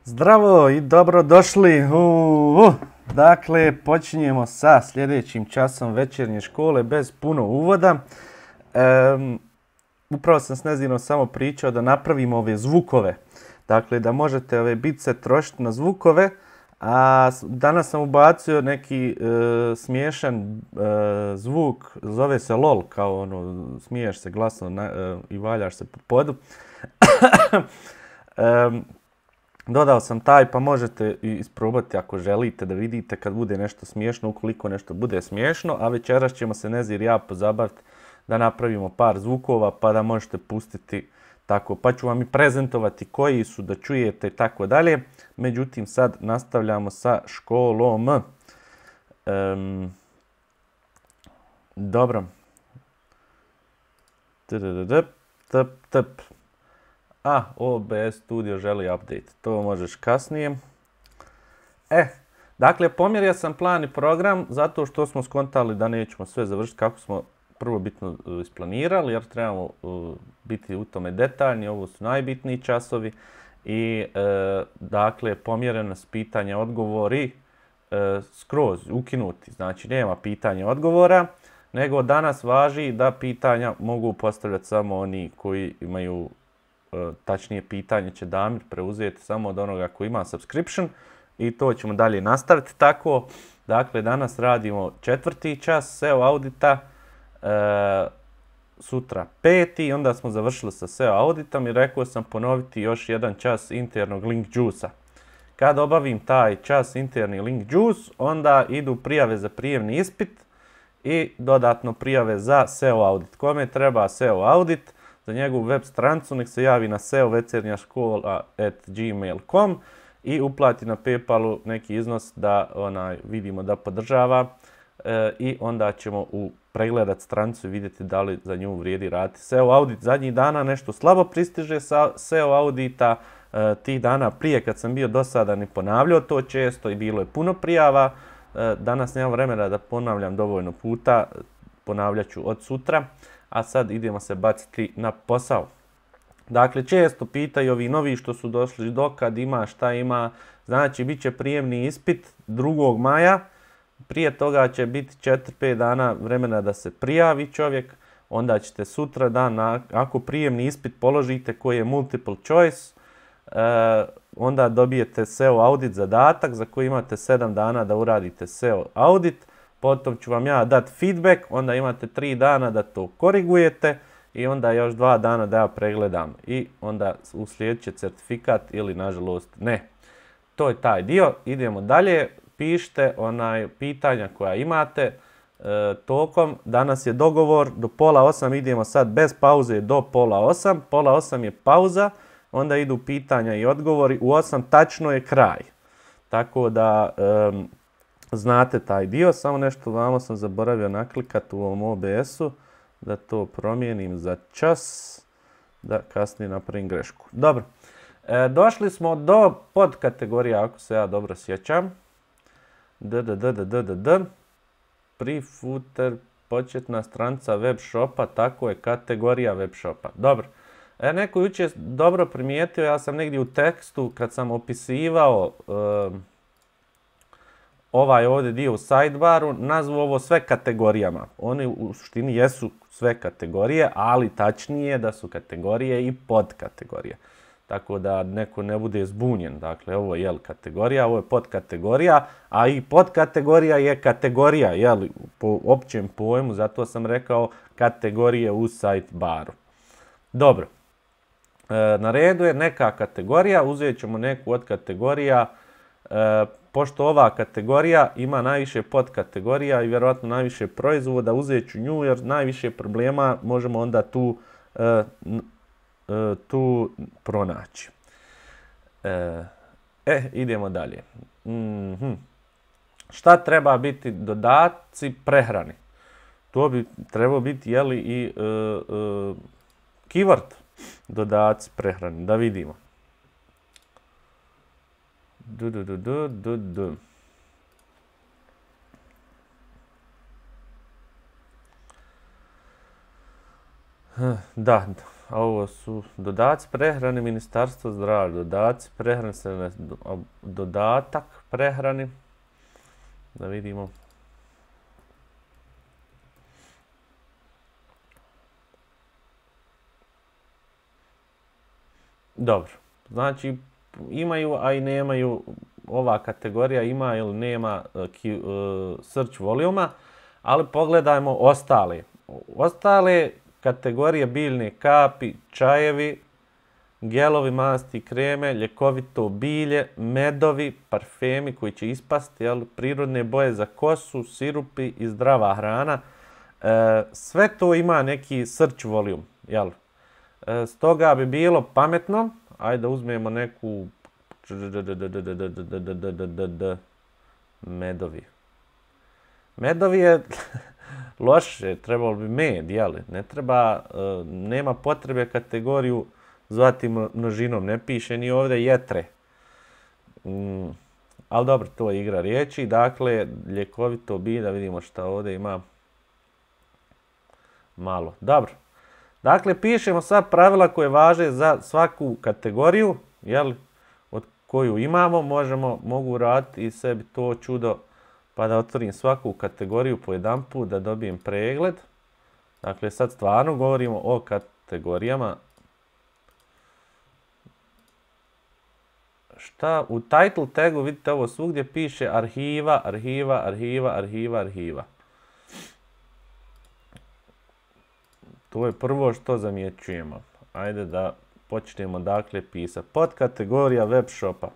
Zdravo i dobrodošli. Dakle, počinjemo sa sljedećim časom večernje škole bez puno uvoda. Upravo sam s Nezinom samo pričao da napravimo ove zvukove. Dakle, da možete ove bice trošiti na zvukove. A danas sam ubacio neki smiješan zvuk, zove se LOL, kao ono, smiješ se glasno i valjaš se po podu. Dodao sam taj, pa možete isprobati ako želite da vidite kad bude nešto smiješno, ukoliko nešto bude smiješno. A večeras ćemo se Nezir i ja pozabaviti da napravimo par zvukova pa da možete pustiti tako. Pa ću vam i prezentovati koji su da čujete i tako dalje. Međutim, sad nastavljamo sa školom. Dobro. OBS Studio želi update. To možeš kasnije. Dakle, pomjerio sam plan i program zato što smo skontali da nećemo sve završiti kako smo prvobitno isplanirali, jer trebamo biti u tome detaljni. Ovo su najbitniji časovi. I, dakle, pomjereno s pitanja odgovori skroz ukinuti. Znači, nema pitanja odgovora, nego danas važi da pitanja mogu postavljati samo oni koji imaju tačnije pitanje će Damir preuzeti samo od onoga koji ima subscription i to ćemo dalje nastaviti tako. Dakle, danas radimo 4. čas SEO audita, sutra 5. Onda smo završili sa SEO auditom i rekao sam ponoviti još jedan čas internog link juice-a. Kad obavim taj čas interni link juice, onda idu prijave za prijemni ispit i dodatno prijave za SEO audit. Kome treba SEO audit? Za njegovu web stranicu nek se javi na seovecernjaškola@gmail.com i uplati na PayPalu neki iznos da vidimo da podržava i onda ćemo pregledati stranicu i vidjeti da li za nju vrijedi raditi SEO audit. Zadnjih dana nešto slabo pristiže sa SEO audita, tih dana prije kad sam bio dosadan i ponavljao to često i bilo je puno prijava. Danas nemam vremena da ponavljam dovoljno puta, ponavljat ću od sutra. A sad idemo se baciti na posao. Dakle, često pitaju ovi novi što su došli dokad ima, šta ima. Znači, bit će prijemni ispit 2. maja. Prije toga će biti 4-5 dana vremena da se prijavi čovjek. Onda ćete sutra dan, ako prijemni ispit položite koji je multiple choice, onda dobijete SEO audit zadatak za koji imate 7 dana da uradite SEO audit. Potom ću vam ja dati feedback, onda imate 3 dana da to korigujete i onda još 2 dana da ja pregledam. I onda uslijedit će certifikat ili nažalost ne. To je taj dio. Idemo dalje. Pišite pitanja koja imate tokom. Danas je dogovor do 7:30, idemo sad bez pauze do 7:30. 7:30 je pauza, onda idu pitanja i odgovori. U 8 tačno je kraj. Tako da znate taj dio, samo nešto vamo sam zaboravio naklikati u ovom OBS-u, da to promijenim za čas, da kasnije napravim grešku. Dobro, došli smo do podkategorija, ako se ja dobro sjećam. Pre-footer, početna stranica web shopa, tako je, kategorija web shopa. Dobro, neko jučer dobro primijetio, ja sam negdje u tekstu kad sam opisivao ovaj ovdje dio u sidebaru, nazvu ovo sve kategorijama. Oni u suštini jesu sve kategorije, ali tačnije da su kategorije i podkategorije. Tako da neko ne bude zbunjen. Dakle, ovo je kategorija, ovo je podkategorija, a i podkategorija je kategorija, po općem pojmu, zato sam rekao kategorije u sidebaru. Dobro, na redu je neka kategorija, uzet ćemo neku od kategorija. Pošto ova kategorija ima najviše podkategorija i vjerojatno najviše proizvoda, uzet ću nju jer najviše problema možemo onda tu pronaći. Idemo dalje. Šta treba biti dodaci prehrani? To bi trebao biti i keyword dodaci prehrani, da vidimo. Da, Ovo su dodaci prehrani Ministarstva zdravlja, dodaci prehrani se dodatak prehrani. Da vidimo. Dobro, znači imaju, a i nemaju, ova kategorija ima ili nema search voljuma, ali pogledajmo ostale. Ostale kategorije biljne kapi, čajevi, gelovi, masti, kreme, ljekovito bilje, medovi, parfemi koji će ispasti, prirodne boje za kosu, sirupi i zdrava hrana. Sve to ima neki search volume, jel? Stoga bi bilo pametno, ajde da uzmemo neku medovi. Medovi je loše, trebalo bi med, jel? Ne treba, nema potrebe kategoriju zvati množinom, ne piše ni ovdje jetre. Ali dobro, to je igra riječi. Dakle, ljekovito bilje, da vidimo šta ovdje ima. Malo. Dobro. Dakle, pišemo sad pravila koje važe za svaku kategoriju, jel, od koju imamo. Mogu raditi i sebi to čudo pa da otvorim svaku kategoriju po jedan put, da dobijem pregled. Dakle, sad stvarno govorimo o kategorijama. Šta? U title tagu vidite ovo svugdje piše arhiva, arhiva, arhiva, arhiva, arhiva. To je prvo što zamjećujemo. Ajde da počnemo dakle pisati. Podkategorija web shopa.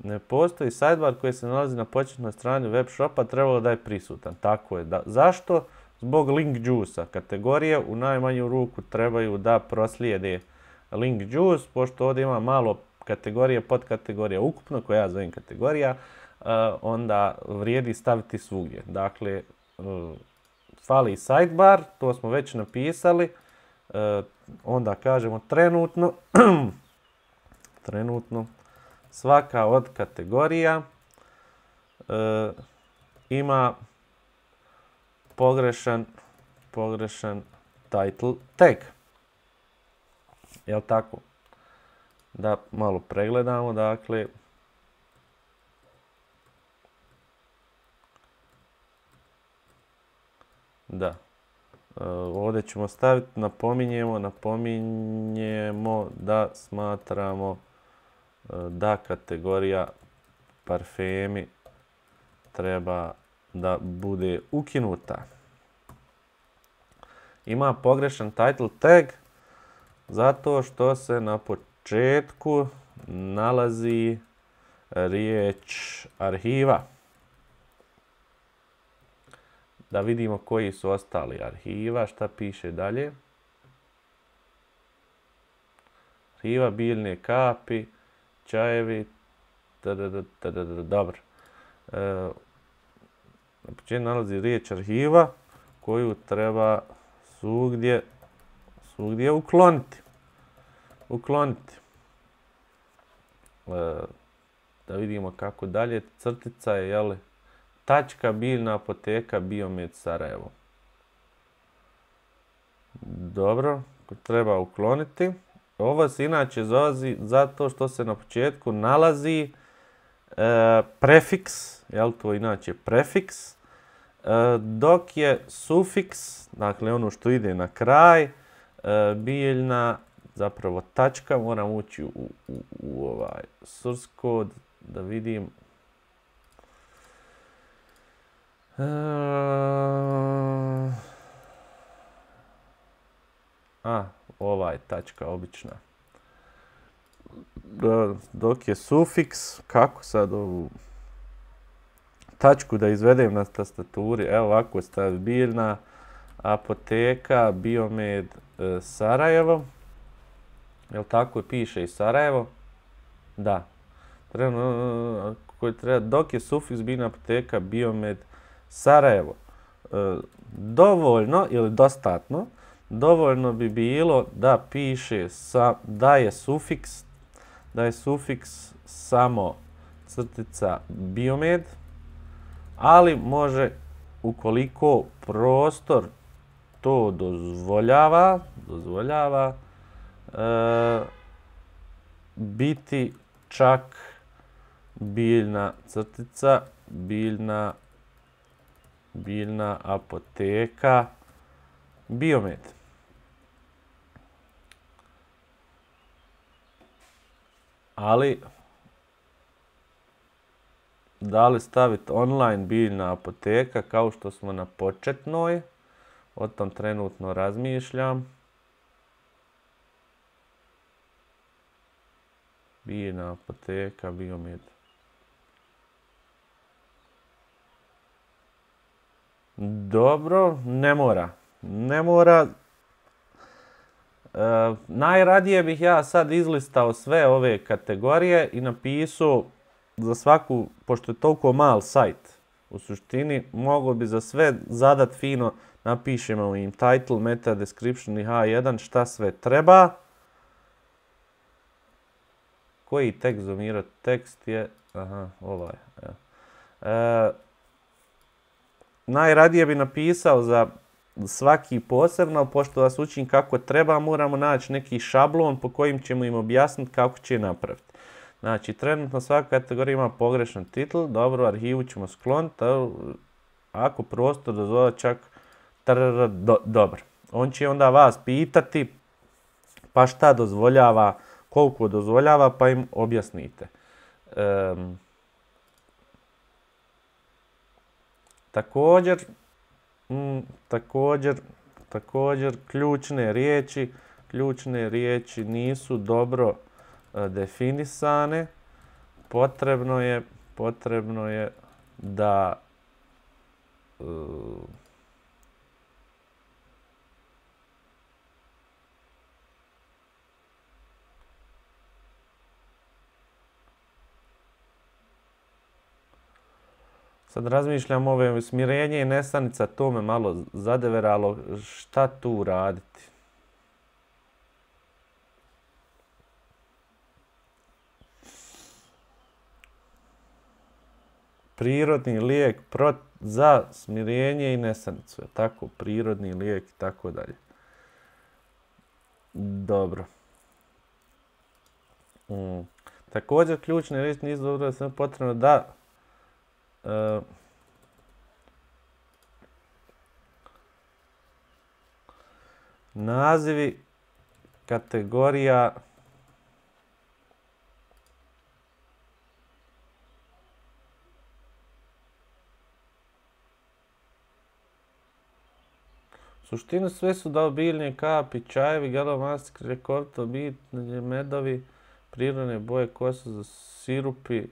Ne postoji sidebar koji se nalazi na početnoj strani web shopa, trebalo da je prisutan. Tako je. Zašto? Zbog link juice-a. Kategorije u najmanju ruku trebaju da proslijede link juice, pošto ovdje ima malo kategorije, podkategorija ukupno, koja ja zovem kategorija, onda vrijedi staviti svugdje. Dakle, fali sidebar, to smo već napisali, onda kažemo trenutno, svaka od kategorija ima pogrešan title tag. Jel' tako? Da malo pregledamo, dakle. Da. Ovdje ćemo staviti, napominjemo da smatramo da kategorija parfemi treba da bude ukinuta. Ima pogrešan title tag zato što se na početku nalazi riječ arhiva. Da vidimo koji su ostali arhiva, šta piše dalje. Arhiva, biljne kapi, čajevi, dobro. Na početku nalazi riječ arhiva koju treba svugdje ukloniti. Da vidimo kako dalje. Crtica je, jel, tačka biljna apoteka Biomed Sarajevo. Dobro, treba ukloniti. Ovo se inače zove zato što se na početku nalazi prefiks, jel, to je inače prefiks, dok je sufiks, dakle ono što ide na kraj, biljna, zapravo tačka, moram ući u ovaj source code da vidim. Ovaj tačka obična. Dok je sufiks, kako sad ovu tačku da izvedem na tastaturi, evo ovako stavi biljna apoteka Biomed Sarajevo. Jel tako piše i Sarajevo? Da. Dok je sufiks biljna apoteka Biomed Sarajevo. Dovoljno ili dostatno, dovoljno bi bilo da piše da je sufiks samo crtica biomed, ali može ukoliko prostor to dozvoljava biti čak biljna crtica, biljna apoteka biomed. Ali da li staviti online biljna apoteka kao što smo na početnoj, o tom trenutno razmišljam. Biljna apoteka biomed. Dobro, ne mora. Najradije bih ja sad izlistao sve ove kategorije i napisao za svaku, pošto je toliko mal sajt, u suštini mogo bi za sve zadat fino, napišemo im title, meta description i H1 šta sve treba. Koji tekst zoomirati? Tekst je, ovaj. Najradije bi napisao za svaki posebno, pošto vas učim kako treba, moramo naći neki šablon po kojim ćemo im objasniti kako će napraviti. Znači, trenutno svaka kategorija ima pogrešan titl, dobro, arhivu ćemo skloniti, ako prostor dozvoljava čak dobro. On će onda vas pitati pa šta dozvoljava, koliko dozvoljava, pa im objasnite. Također ključne riječi nisu dobro definisane. Potrebno je da sad razmišljam ove smirenje i nesanica, to me malo zadeveralo, šta tu raditi? Prirodni lijek za smirenje i nesanicu, tako, prirodni lijek i tako dalje. Dobro. Također ključne riječi nisu dobro da se potrebno da nazivi kategorija u suštini sve su dao biljne kapi, čajevi, galomastik, rekorto, bit, medovi, prirodne boje, kosa za sirupi.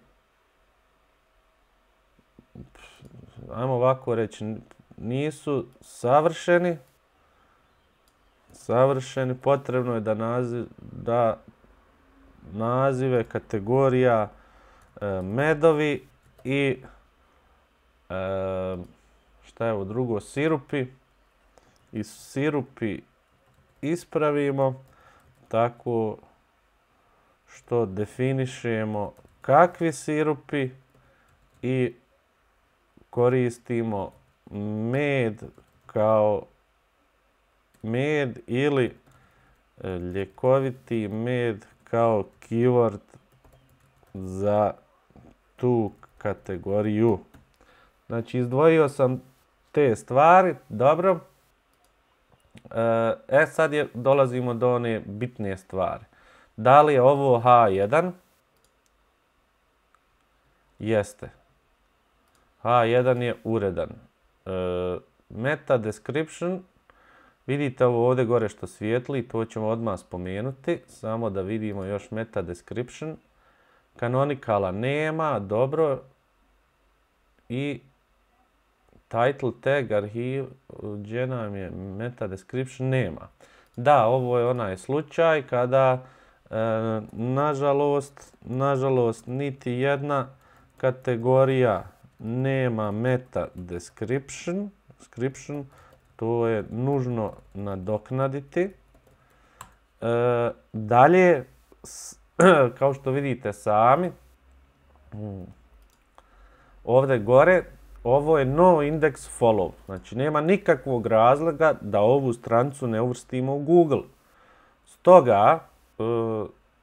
Ajmo ovako reći, nisu savršeni, potrebno je da nazive kategorija medovi i šta je ovo drugo, sirupi, i sirupi ispravimo tako što definišemo kakvi sirupi i koristimo med kao med ili ljekoviti med kao keyword za tu kategoriju. Znači, izdvojio sam te stvari, dobro. Sad dolazimo do one bitne stvari. Da li je ovo H1? Jeste. H1 je uredan. Meta description, vidite ovo ovdje gore što svijetli, to ćemo odmah spomenuti, samo da vidimo još meta description. Canonicala nema, dobro. I title tag, arhiv, gdje nam je meta description, nema. Da, ovo je onaj slučaj kada, nažalost, niti jedna kategorija nema meta description, to je nužno nadoknaditi. Dalje, kao što vidite sami, Ovdje gore, ovo je no index follow. Znači, nema nikakvog razloga da ovu stranicu ne uvrstimo u Google. Stoga,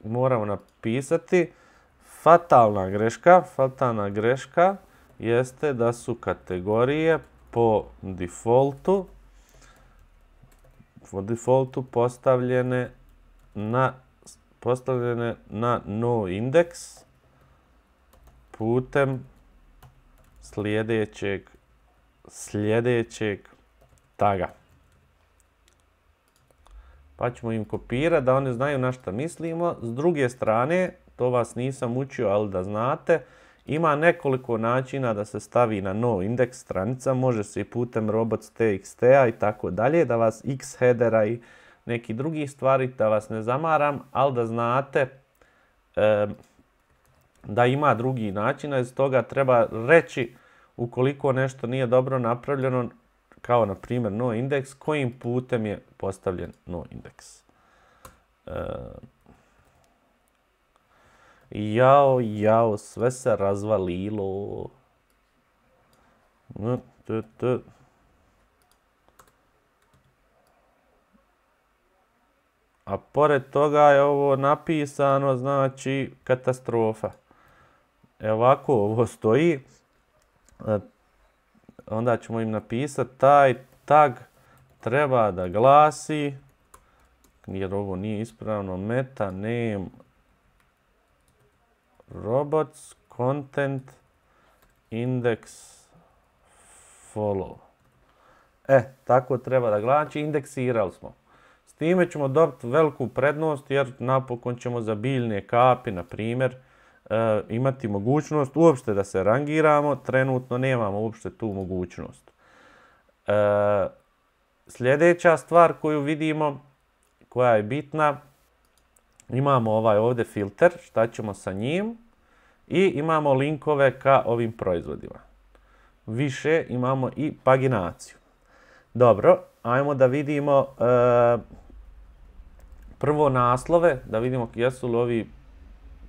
moramo napisati fatalna greška jeste da su kategorije po defaultu postavljene na no index putem sljedećeg taga. Pa ćemo im kopirati da oni znaju na šta mislimo. S druge strane, to vas nisam učio, ali da znate, ima nekoliko načina da se stavi na no indeks stranica. Može se i putem robots.txt-a i tako dalje, da vas x headera i neki drugi stvari, da vas ne zamaram, ali da znate da ima drugi načina. Iz toga treba reći ukoliko nešto nije dobro napravljeno, kao na primjer no indeks, kojim putem je postavljen no indeks. Jao, sve se razvalilo. A pored toga je ovo napisano, znači katastrofa. Ovako ovo stoji. Onda ćemo im napisati taj tag treba da glasi, jer ovo nije ispravno, meta name robots content index follow. Tako treba da glasi, indeksirali smo. S time ćemo dobiti veliku prednost jer napokon ćemo za biljne kapi, na primjer, imati mogućnost uopšte da se rangiramo. Trenutno nemamo uopšte tu mogućnost. Sljedeća stvar koju vidimo, koja je bitna, imamo ovaj ovdje filter, šta ćemo sa njim, i imamo linkove ka ovim proizvodima. Više imamo i paginaciju. Dobro, ajmo da vidimo prvo naslove, da vidimo jesu li ovi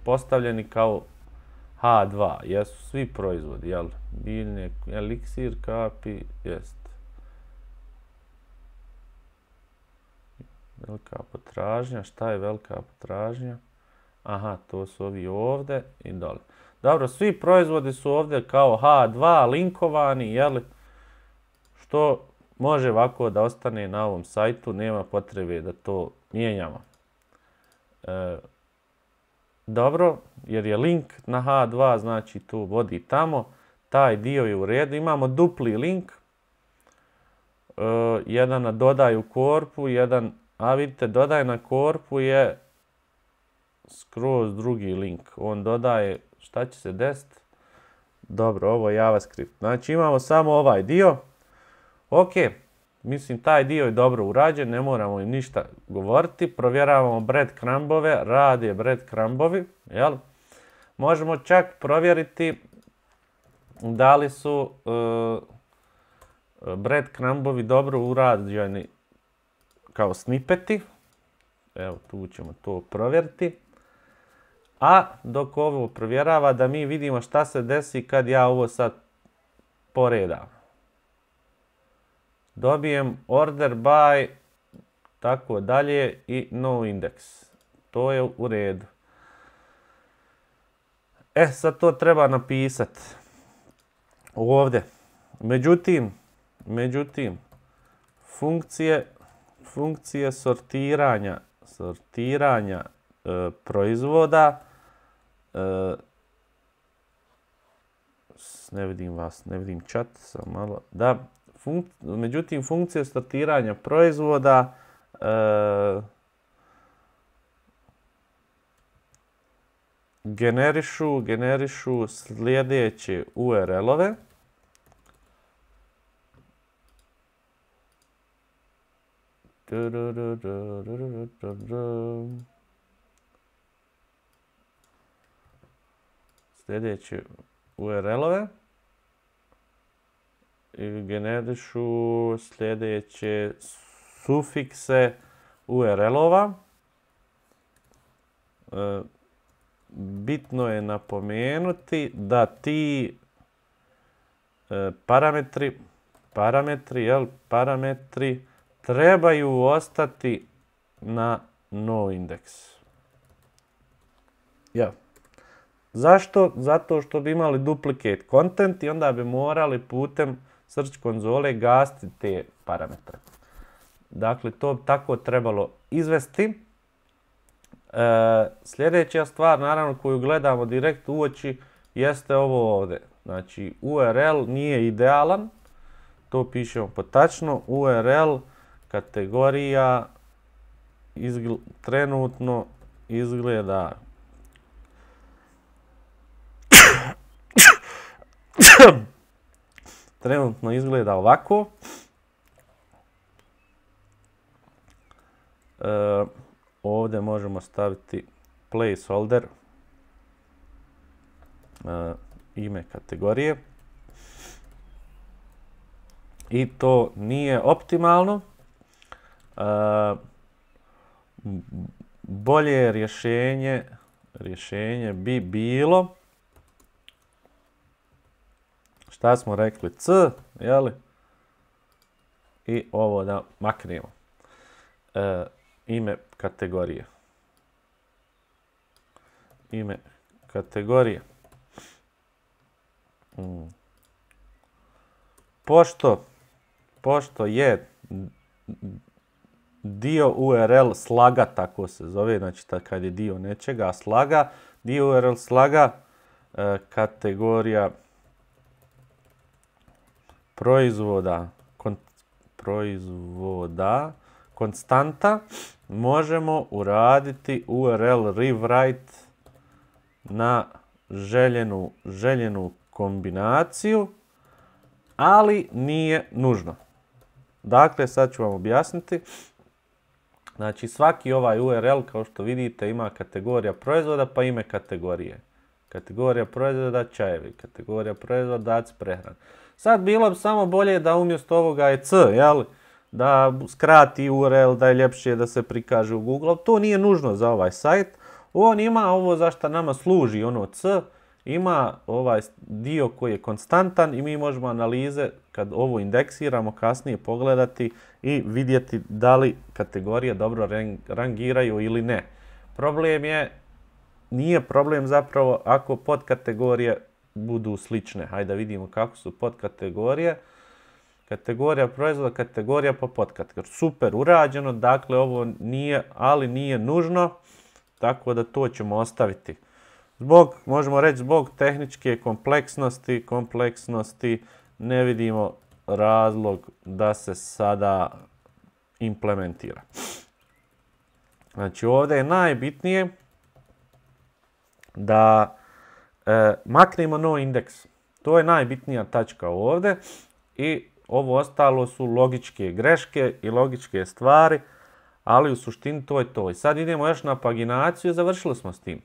postavljeni kao H2, jesu svi proizvodi, jel? Biljne, eliksir, kapi, jest. Velika potražnja, šta je velika potražnja? Aha, to su ovi ovdje i dole. Dobro, svi proizvodi su ovdje kao H2 linkovani, jel? Što može ovako da ostane na ovom sajtu, nema potrebe da to mijenjamo. Dobro, jer je link na H2, znači to vodi tamo, taj dio je u redu. Imamo dupli link, jedan na dodaj u korpu, jedan, a vidite, dodaj na korpu je skroz drugi link. On dodaje, šta će se desiti? Dobro, ovo je JavaScript. Znači imamo samo ovaj dio. Ok, mislim taj dio je dobro urađen, ne moramo im ništa govoriti. Provjeravamo breadcrumbove, rade breadcrumbovi, jel? Možemo čak provjeriti da li su breadcrumbovi dobro urađeni kao snippeti. Evo, tu ćemo to provjeriti. A dok ovo provjerava, da mi vidimo šta se desi kad ja ovo sad poredam. Dobijem order by, tako dalje, i no index. To je u redu. Sad to treba napisati ovdje. Međutim, funkcije sortiranja proizvoda, ne vidim chat, samo malo, da, međutim, funkcije sortiranja proizvoda generišu sljedeće URL-ove. Sljedeće URL-ove i generišu sljedeće sufikse URL-ova. bitno je napomenuti da ti parametri trebaju ostati na noIndex. Ja. Zašto? Zato što bi imali duplicate content i onda bi morali putem search konzole gasiti te parametre. Dakle, to bi tako trebalo izvesti. Sljedeća stvar, naravno, koju gledamo direkt u oči, jeste ovo ovdje. Znači, URL nije idealan, to pišemo potačno. URL kategorija trenutno izgleda ovako. Ovdje možemo staviti placeholder, ime kategorije. I to nije optimalno. Bolje rješenje bi bilo, šta smo rekli, C, jeli? I ovo da maknemo. Ime kategorije. Ime kategorije. Pošto je dio URL slaga, tako se zove, znači kad je dio nečega slaga, dio URL slaga, kategorija proizvoda konstanta, možemo uraditi URL rewrite na željenu kombinaciju, ali nije nužno. Dakle, sad ću vam objasniti. Znači, svaki ovaj URL, kao što vidite, ima kategorija proizvoda pa ime kategorije. Kategorija proizvoda čajevi, kategorija proizvoda daci prehrane. Sad bilo bi samo bolje da umjesto ovoga je C, jel? Da skrati URL, da je ljepše da se prikaže u Google. To nije nužno za ovaj sajt. On ima ovo za što nama služi, ono C, ima ovaj dio koji je konstantan i mi možemo analize, kad ovo indeksiramo, kasnije pogledati i vidjeti da li kategorije dobro rangiraju ili ne. Problem nije problem zapravo ako podkategorije budu slične. Hajde da vidimo kako su podkategorije. Kategorija proizvoda, kategorija pa podkategorija. Super urađeno, dakle ovo nije, ali nije nužno, tako da to ćemo ostaviti. Možemo reći zbog tehničke kompleksnosti ne vidimo razlog da se sada implementira. Znači ovdje je najbitnije da maknemo noIndex. To je najbitnija tačka ovdje i ovo ostalo su logičke greške i logičke stvari, ali u suštini to je to. I sad idemo još na paginaciju i završili smo s tim.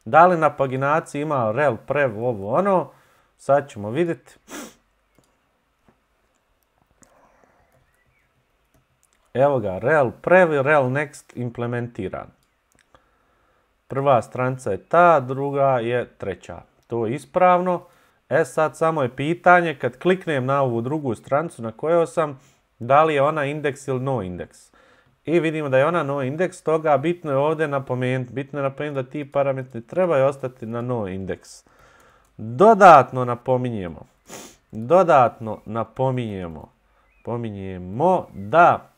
Da li na paginaciji ima rel, prev, ovo, ono, sad ćemo vidjeti. Evo ga, rel, prev i rel next implementiran. Prva stranica je ta, druga je treća. To je ispravno. Sad samo je pitanje, kad kliknem na ovu drugu stranicu na kojoj sam, da li je ona indeks ili no indeks. I vidimo da je ona no indeks, toga bitno je ovdje napomenuti. Bitno je napomenuti da ti parametri trebaju ostati na no indeks. Dodatno napominjemo da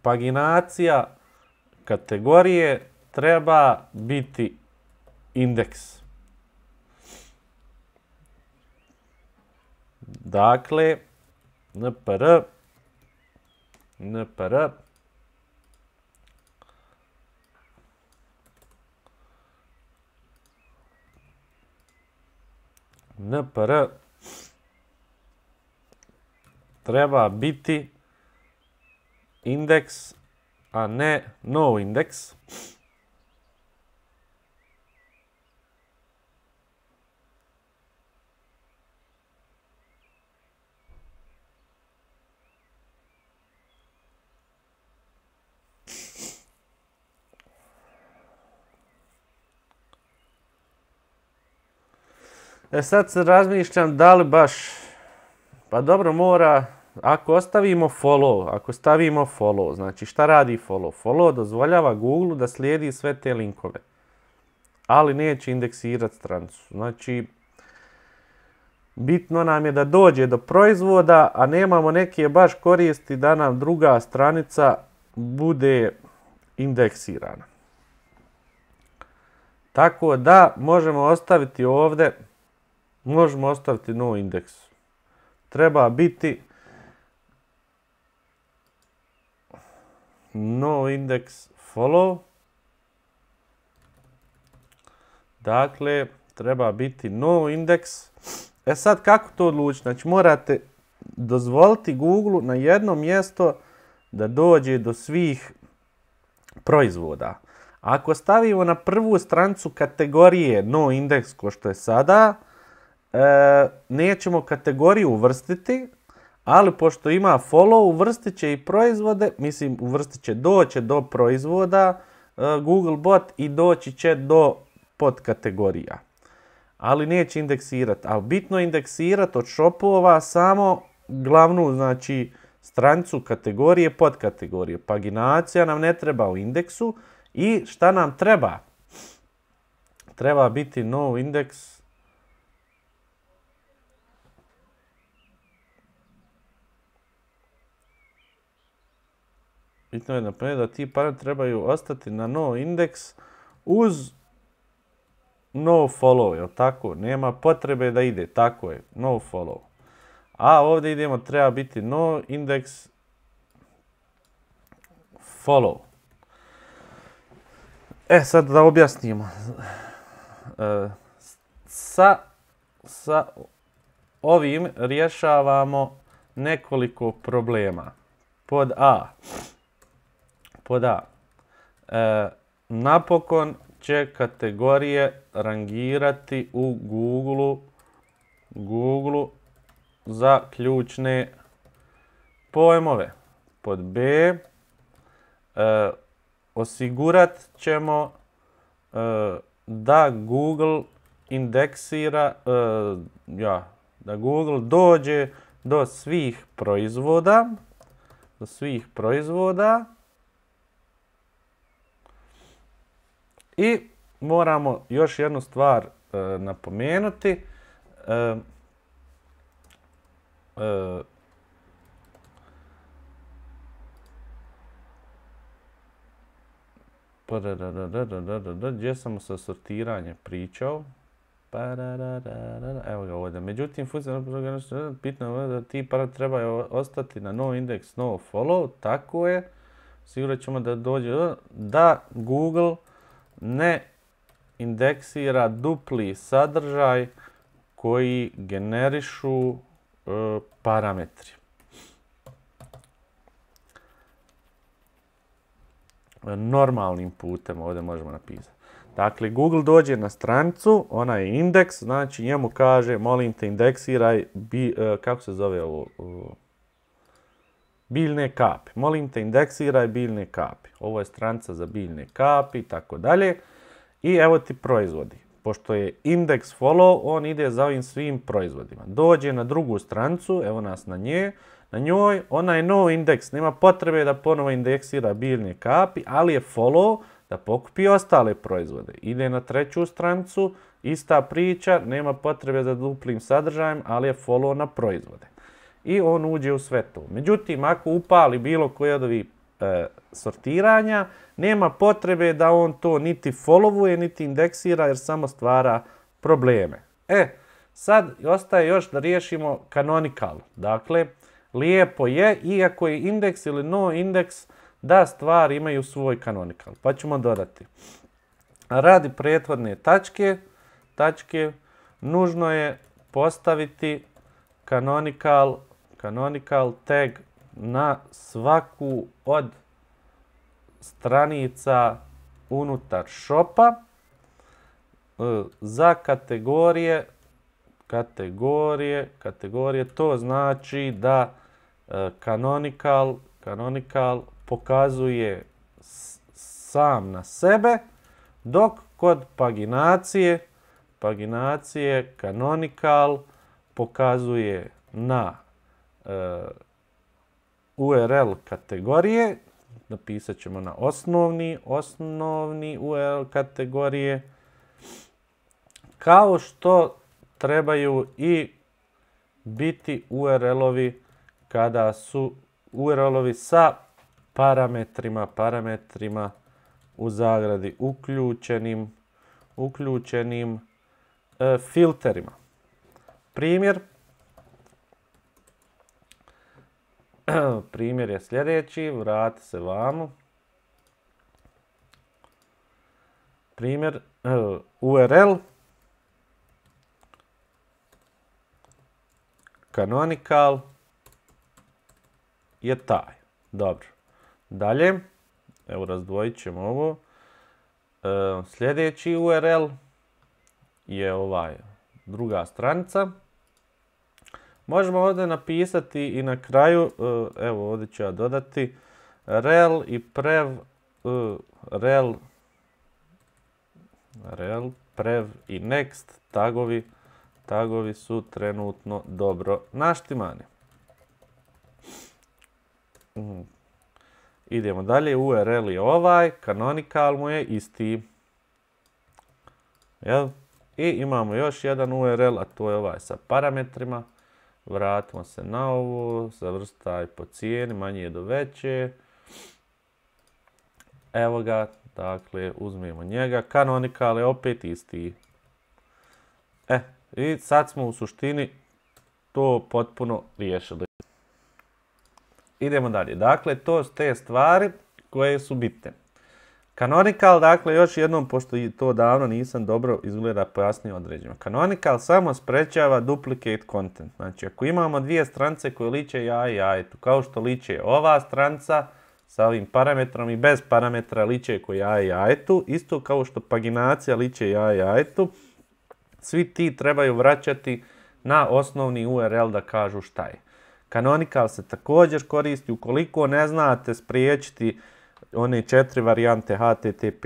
paginacija kategorije treba biti indeks. Dakle, npr treba biti indeks, a ne no indeks. Sad se razmišljam da li baš, pa dobro mora, ako stavimo follow, znači šta radi follow? Follow dozvoljava Google da slijedi sve te linkove, ali neće indeksirati stranicu. Znači, bitno nam je da dođe do proizvoda, a nemamo neke baš koristi da nam druga stranica bude indeksirana. Tako da možemo ostaviti ovdje, možemo ostaviti no indeks. Treba biti no index follow. Dakle, treba biti no index. Sad kako to odlučiti? Znači morate dozvoliti Google na jedno mjesto da dođe do svih proizvoda. Ako stavimo na prvu stranicu kategorije no index ko što je sada, nećemo kategoriju uvrstiti, ali pošto ima follow, uvrstit će i proizvode, mislim uvrstit će, doći do proizvoda Google bot i doći će do podkategorija. Ali neće indeksirati. Ali bitno je indeksirati od shopova samo glavnu, znači stranicu kategorije, podkategorije. Paginacija nam ne treba u indeksu. I šta nam treba? Treba biti no index. Bitno je napomenuti da ti parametri trebaju ostati na no index uz no follow, jel tako? Nema potrebe da ide, tako je, no follow. A ovdje idemo, treba biti no index follow. Sad da objasnimo. Sa ovim rješavamo nekoliko problema. Pod A. Napokon će kategorije rangirati u Google za ključne pojmove. Pod B. Osigurat ćemo da Google indeksira, da Google dođe do svih proizvoda, i moramo još jednu stvar napomenuti. Gdje sam sa sortiranje pričao? Evo ga ovdje. Međutim, bitno je da ti parametri trebaju ostati na no index, no follow. Tako je. Sigurat ćemo da dođe da Google ne indeksira dupli sadržaj koji generišu parametri. Normalnim putem ovdje možemo napisati. Dakle, Google dođe na stranicu, ona je indeks, znači njemu kaže, molim te indeksiraj, kako se zove ovo? Biljne kapi. Molim te indeksiraj biljne kapi. Ovo je stranica za biljne kapi i tako dalje. I evo ti proizvodi. Pošto je index follow, on ide za ovim svim proizvodima. Dođe na drugu stranicu, evo nas na njoj, ona je no index, nema potrebe da ponovo indeksira biljne kapi, ali je follow da pokupi ostale proizvode. Ide na treću stranicu, ista priča, nema potrebe za duplim sadržajem, ali je follow na proizvode. I on uđe u sve to. Međutim, ako upali bilo koje od ovih sortiranja, nema potrebe da on to niti followuje, niti indeksira, jer samo stvara probleme. Sad ostaje još da riješimo canonical. Dakle, lijepo je, iako je indeks ili no indeks, da stvari imaju svoj canonical. Pa ćemo dodati. Radi prethodne tačke, nužno je postaviti canonical tag na svaku od stranica unutar shopa za kategorije, to znači da canonical pokazuje sam na sebe, dok kod paginacije paginacije Canonical pokazuje na URL kategorije. Napisat ćemo na osnovni URL kategorije. Kao što trebaju i biti URL-ovi kada su URL-ovi sa parametrima u zagradi uključenim filterima. Primjer je sljedeći, vrati se vamo. Primjer URL Canonical je taj. Dobro. Dalje, evo razdvojit ćemo ovo. Sljedeći URL je ovaj druga stranica. Možemo ovdje napisati i na kraju, evo ovdje ću ja dodati, rel i prev i next tagovi su trenutno dobro naštimani. Idemo dalje, URL je ovaj, Canonical mu je isti. Jel? I imamo još jedan URL, a to je ovaj sa parametrima. Vratimo se na ovo, zavrstaj po cijeni, manje do veće. Evo ga, dakle, uzmemo njega. Canonical je opet isti. I sad smo u suštini to potpuno riješili. Idemo dalje. Dakle, to su te stvari koje su bitne. Canonical, dakle, još jednom, pošto to davno nisam dobro izgleda pojasnio određeno. Canonical samo sprečava duplicate content. Znači, ako imamo dvije stranice koje liče jaje jajetu, kao što liče ova stranica sa ovim parametrom i bez parametra liče ko jaje jajetu, isto kao što paginacija liče jaje jajetu, svi ti trebaju vraćati na osnovni URL da kažu šta je. Canonical se također koristi ukoliko ne znate spriječiti one 4 varijante HTTP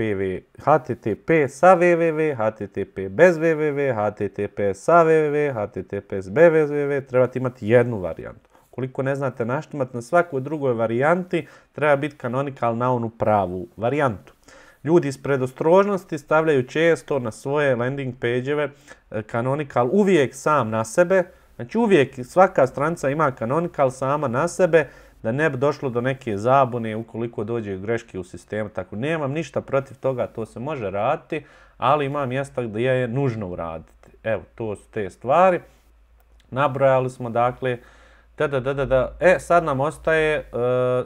sa www, HTTP bez www, HTTP sa www, HTTP bez www, trebate imati jednu varijantu. Ukoliko ne znate naštimati na svakoj drugoj varijanti, treba biti Canonical na onu pravu varijantu. Ljudi iz predostrožnosti stavljaju često na svoje landing page-eve Canonical uvijek sam na sebe. Znači uvijek svaka stranica ima Canonical sama na sebe, da ne bi došlo do neke zabune ukoliko dođe greške u sistemu. Tako nemam ništa protiv toga, to se može raditi, ali ima mjesta gdje je nužno uraditi. Evo, to su te stvari. Nabrojali smo, dakle, sad nam ostaje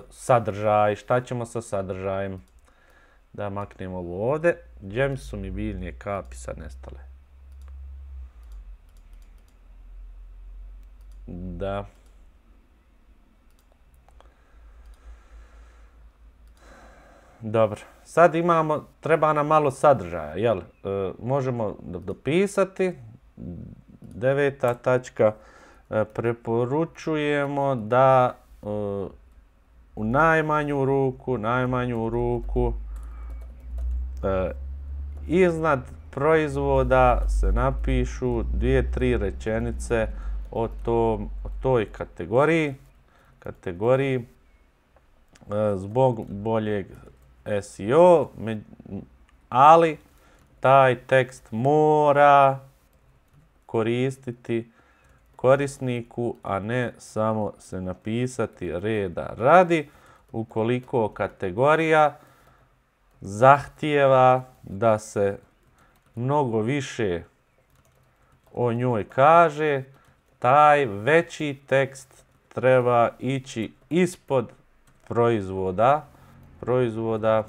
sadržaj. Šta ćemo sa sadržajem? Da maknemo ovo ovdje. Gdje su mi biljne kapi sad nestale? Da. Dobro. Sad imamo, treba nam malo sadržaja, jel? Možemo dopisati. 9. tačka. Preporučujemo da u najmanju ruku iznad proizvoda se napišu 2-3 rečenice o toj kategoriji zbog boljeg SEO, ali taj tekst mora koristiti korisniku, a ne samo se napisati reda radi, ukoliko kategorija zahtijeva da se mnogo više o njoj kaže, taj veći tekst treba ići ispod proizvoda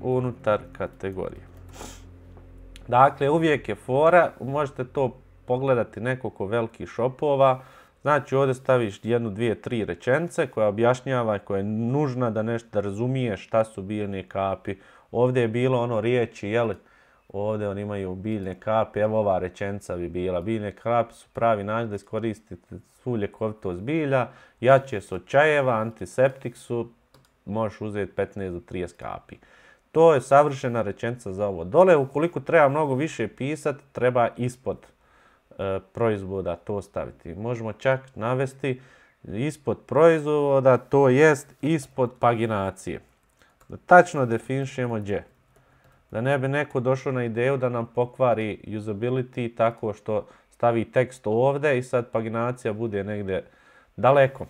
unutar kategorije. Dakle, uvijek je fora, možete to pogledati nekoliko velikih shopova, znači ovdje staviš 1, 2, 3 rečenice koja objašnjava, koja je nužna da nešto razumiješ šta su biljne kapi. Ovdje je bilo ono riječi, jel? Ovdje oni imaju biljne kapi, evo ova rečenica bi bila. Biljne kapi su pravi način da iskoristite svu ljekovitost bilja, jače su od čajeva, antiseptik su, možeš uzeti 15 do 30 kapi. To je savršena rečenica za ovo. Dole, ukoliko treba mnogo više pisati, treba ispod proizvoda to staviti. Možemo čak navesti ispod proizvoda, to jest ispod paginacije. Da tačno definišemo gdje. Da ne bi neko došao na ideju da nam pokvari usability tako što stavi tekst ovdje i sad paginacija bude negdje daleko.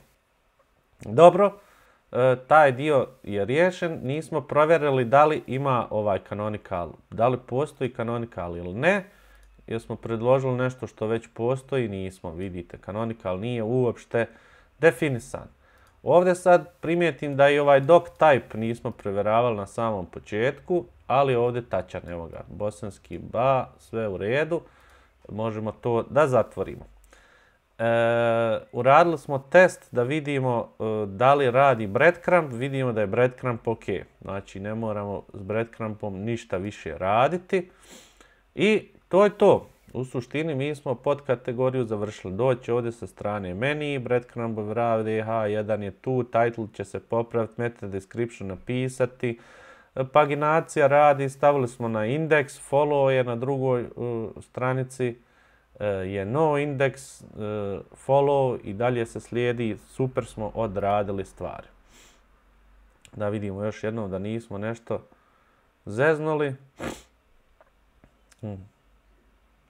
Dobro, taj dio je riješen. Nismo provjerili da li ima ovaj canonical, da li postoji canonical ili ne. Jer smo predložili nešto što već postoji, nismo, vidite, canonical nije uopšte definisan. Ovdje sad primijetim da i ovaj doc type nismo provjeravali na samom početku, ali ovdje tačan, evo ga, bosanski ba, sve u redu, možemo to da zatvorimo. Uradili smo test da vidimo da li radi breadcrumb, vidimo da je breadcrumb ok, znači ne moramo s breadcrumbom ništa više raditi i to je to. U suštini mi smo pod kategoriju završili. Doći ovdje sa strane meni, breadcrumb radi, H1 je tu, title će se popraviti, meta description napisati, paginacija radi, stavili smo na index, follow je na drugoj stranici, je no index, follow i dalje se slijedi, super smo odradili stvari. Da vidimo još jednom da nismo nešto zeznuli.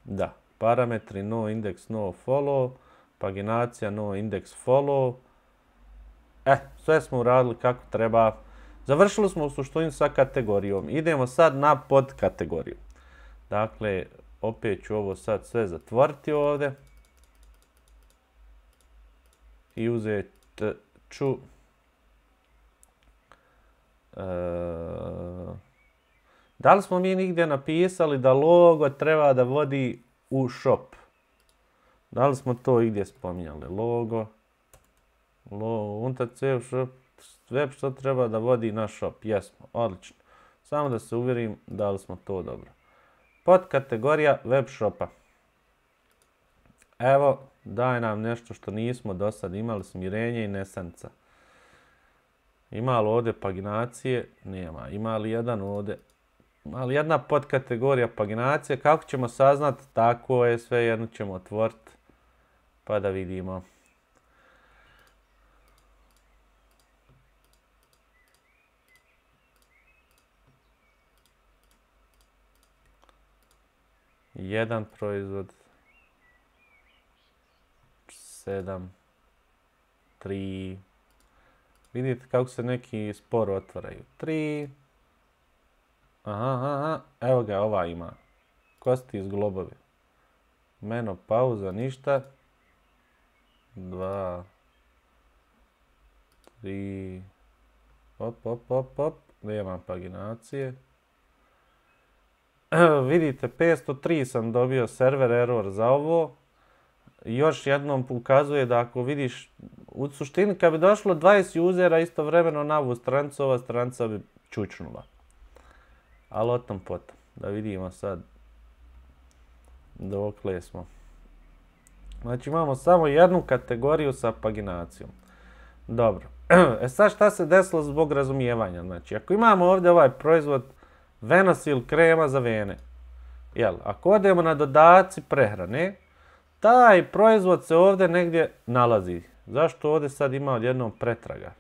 Da, parametri no index, no follow, paginacija no index, follow. Sve smo uradili kako treba. Završili smo u suštini sa kategorijom. Idemo sad na podkategoriju. Dakle, opet ću ovo sad sve zatvoriti ovdje. I uzet ću da li smo mi nigdje napisali da logo treba da vodi u shop? Da li smo to igdje spominjali? Logo, unutar shop, web što treba da vodi na shop? Jesmo, odlično. Samo da se uvjerim da li smo to dobro. Podkategorija web shopa. Evo, daj nam nešto što nismo do sad imali, smirenje i nesanica. Ima li ovdje paginacije? Nema. Ima li jedan ovdje? Ali jedna podkategorija paginacije, kako ćemo saznati, tako je, sve jedno ćemo otvoriti, pa da vidimo. Jedan proizvod, 7, 3, vidite kako se neki sporo otvaraju, 3, aha, evo ga, ova ima. Kosti iz globovi. Menopauza, ništa. 2, 3, op, nema paginacije. Vidite, 503 sam dobio server error za ovo. Još jednom ukazuje da ako vidiš, u suštini kad bi došlo 20 usera istovremeno na ovu stranicu, ova stranica bi čučnula. Ali o tom potom. Da vidimo sad dokle smo. Znači imamo samo jednu kategoriju sa paginacijom. Dobro. Sad šta se desilo zbog razumijevanja? Znači ako imamo ovdje ovaj proizvod Venosil krema za vene. Jel, ako odemo na dodaci prehrane, taj proizvod se ovdje negdje nalazi. Zašto ovdje sad ima odjednom pretraga?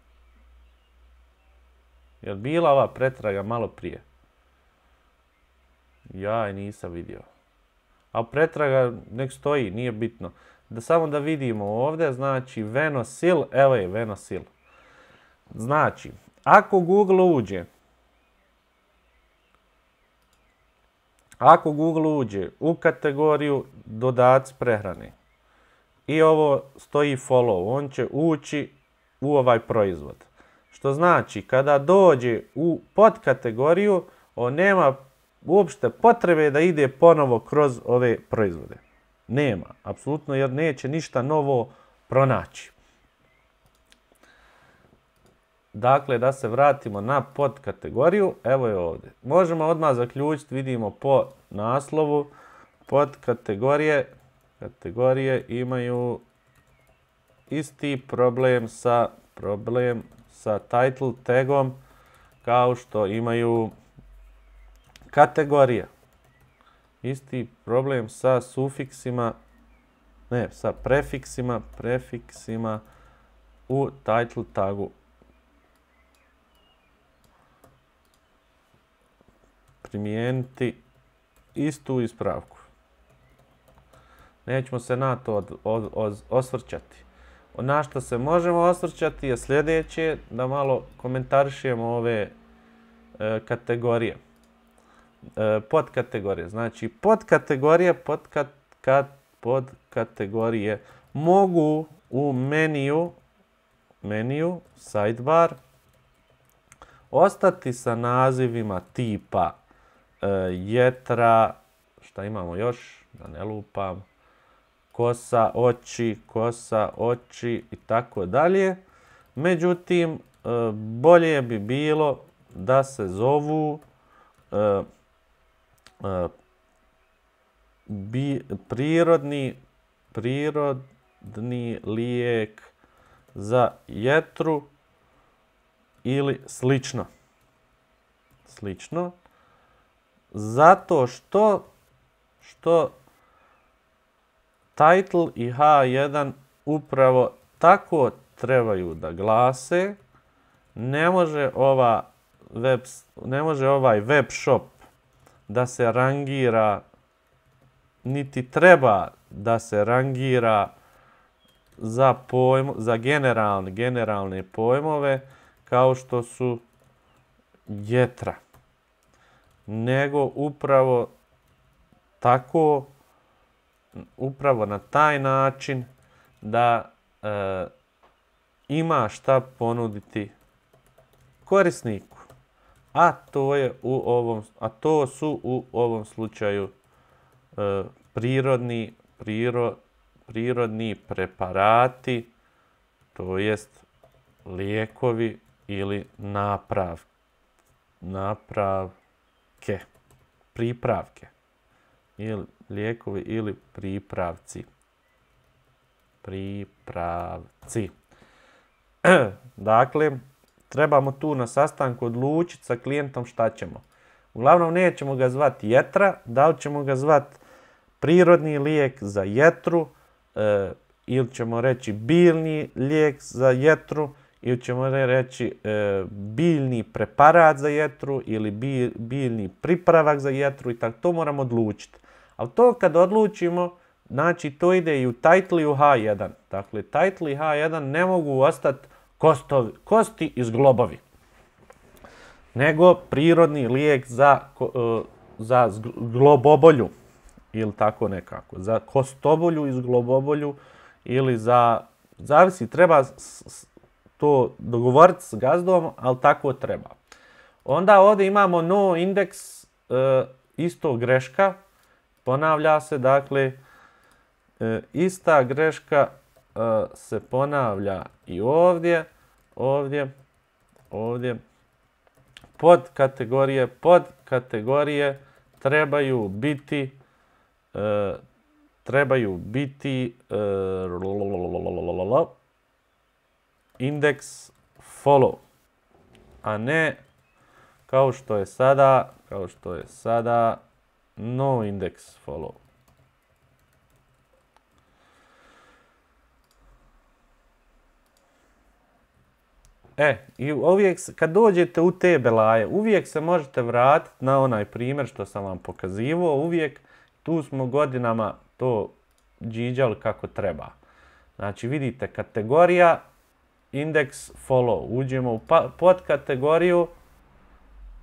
Jel bila ova pretraga malo prije? Ja je nisam vidio. A pretraga nek stoji, nije bitno. Samo da vidimo ovdje, znači Venosil, evo je Venosil. Znači, ako Google uđe u kategoriju dodaci prehrane i ovo stoji follow, on će ući u ovaj proizvod. Što znači, kada dođe u podkategoriju, on nema uopšte potrebe da ide ponovo kroz ove proizvode. Nema, apsolutno, jer neće ništa novo pronaći. Dakle, da se vratimo na podkategoriju, evo je ovdje. Možemo odmah zaključiti, vidimo po naslovu, podkategorije imaju isti problem sa title tagom kao što imaju Kategorija. Isti problem sa sufiksima, ne, sa prefiksima u title tagu. Primijeniti istu ispravku. Nećemo se na to osvrćati. Na što se možemo osvrćati je sljedeće, da malo komentarišemo ove kategorije. Podkategorije. Znači, podkategorije mogu u meniju, sidebar, ostati sa nazivima tipa jetra, šta imamo još, da ne lupam, kosa, oči i tako dalje. Međutim, bolje bi bilo da se zovu prirodni lijek za jetru ili slično. Zato što title i H1 upravo tako trebaju da glase. Ne može ovaj web shop da se rangira, niti treba da se rangira za generalne pojmove kao što su jetra. Nego upravo tako, upravo na taj način da ima šta ponuditi korisniku. A to su u ovom slučaju prirodni preparati, to jest lijekovi ili pripravke. Ili lijekovi ili pripravci. Dakle, trebamo tu na sastanku odlučiti sa klijentom šta ćemo. Uglavnom nećemo ga zvati jetra, da li ćemo ga zvati prirodni lijek za jetru, ili ćemo reći biljni lijek za jetru, ili ćemo reći biljni preparat za jetru ili biljni pripravak za jetru i tako. To moramo odlučiti. Ali to kad odlučimo, znači to ide i u title i u H1. Dakle, title i H1 ne mogu ostati kosti i zglobovi, nego prirodni lijek za zglobobolju ili tako nekako, za kostobolju i zglobobolju ili zavisi, treba to dogovoriti s gazdom, ali tako treba. Onda ovdje imamo no indeks, isto greška, ponavlja se, dakle, ista greška se ponavlja i ovdje. Podkategorije trebaju biti index follow, a ne kao što je sada no index follow. I uvijek kad dođete u te belaje, uvijek se možete vratiti na onaj primjer što sam vam pokazivao. Uvijek tu smo godinama to džiđali kako treba. Znači vidite kategorija index follow. Uđemo u podkategoriju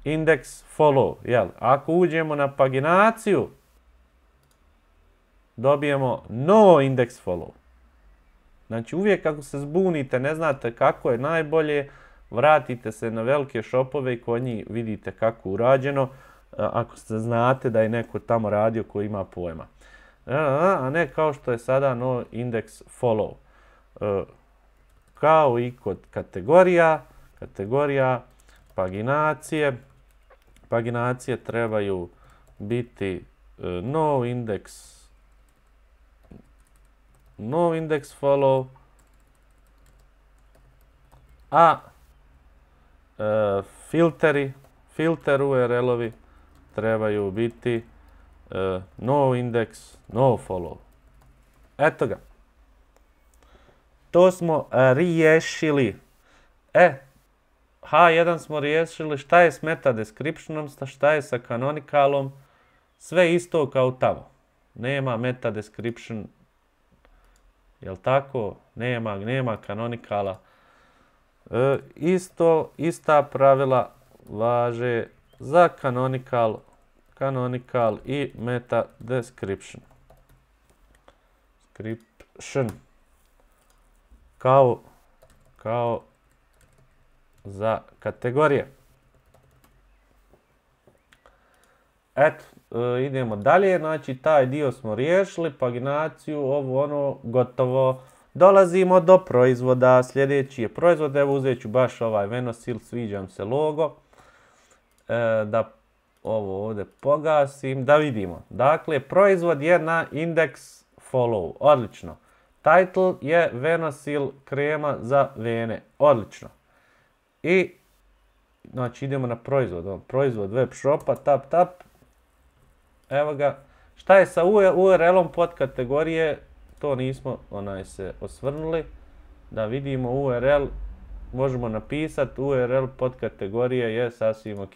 index follow. Jel? Ako uđemo na paginaciju, dobijemo no index follow. Znači uvijek ako se zbunite, ne znate kako je najbolje, vratite se na velike shopove i kod njih vidite kako je urađeno, ako se znate da je neko tamo radio koji ima pojma. A ne kao što je sada no index follow. Kao i kod kategorija, paginacije trebaju biti no index follow, a filter URL-ovi trebaju biti no index, no follow. Eto ga. To smo riješili. H1 smo riješili, šta je s meta descriptionom, šta je sa canonicalom, sve isto kao tamo. Nema meta description, jel tako? Nema canonicala. Ista pravila važe za canonical i meta description. Kao za kategorije. Eto, idemo dalje, znači taj dio smo riješili, paginaciju, ovo ono, gotovo. Dolazimo do proizvoda, sljedeći je proizvod, evo uzet ću baš ovaj Venosil, sviđam se logo. Da ovo ovdje pogasim, da vidimo. Dakle, proizvod je na index follow, odlično. Title je Venosil krema za vene, odlično. I, znači idemo na proizvod, proizvod web shopa, tap, evo ga. Šta je sa URL-om pod kategorije, to nismo se osvrnuli, da vidimo URL, možemo napisati URL pod kategorije je sasvim ok.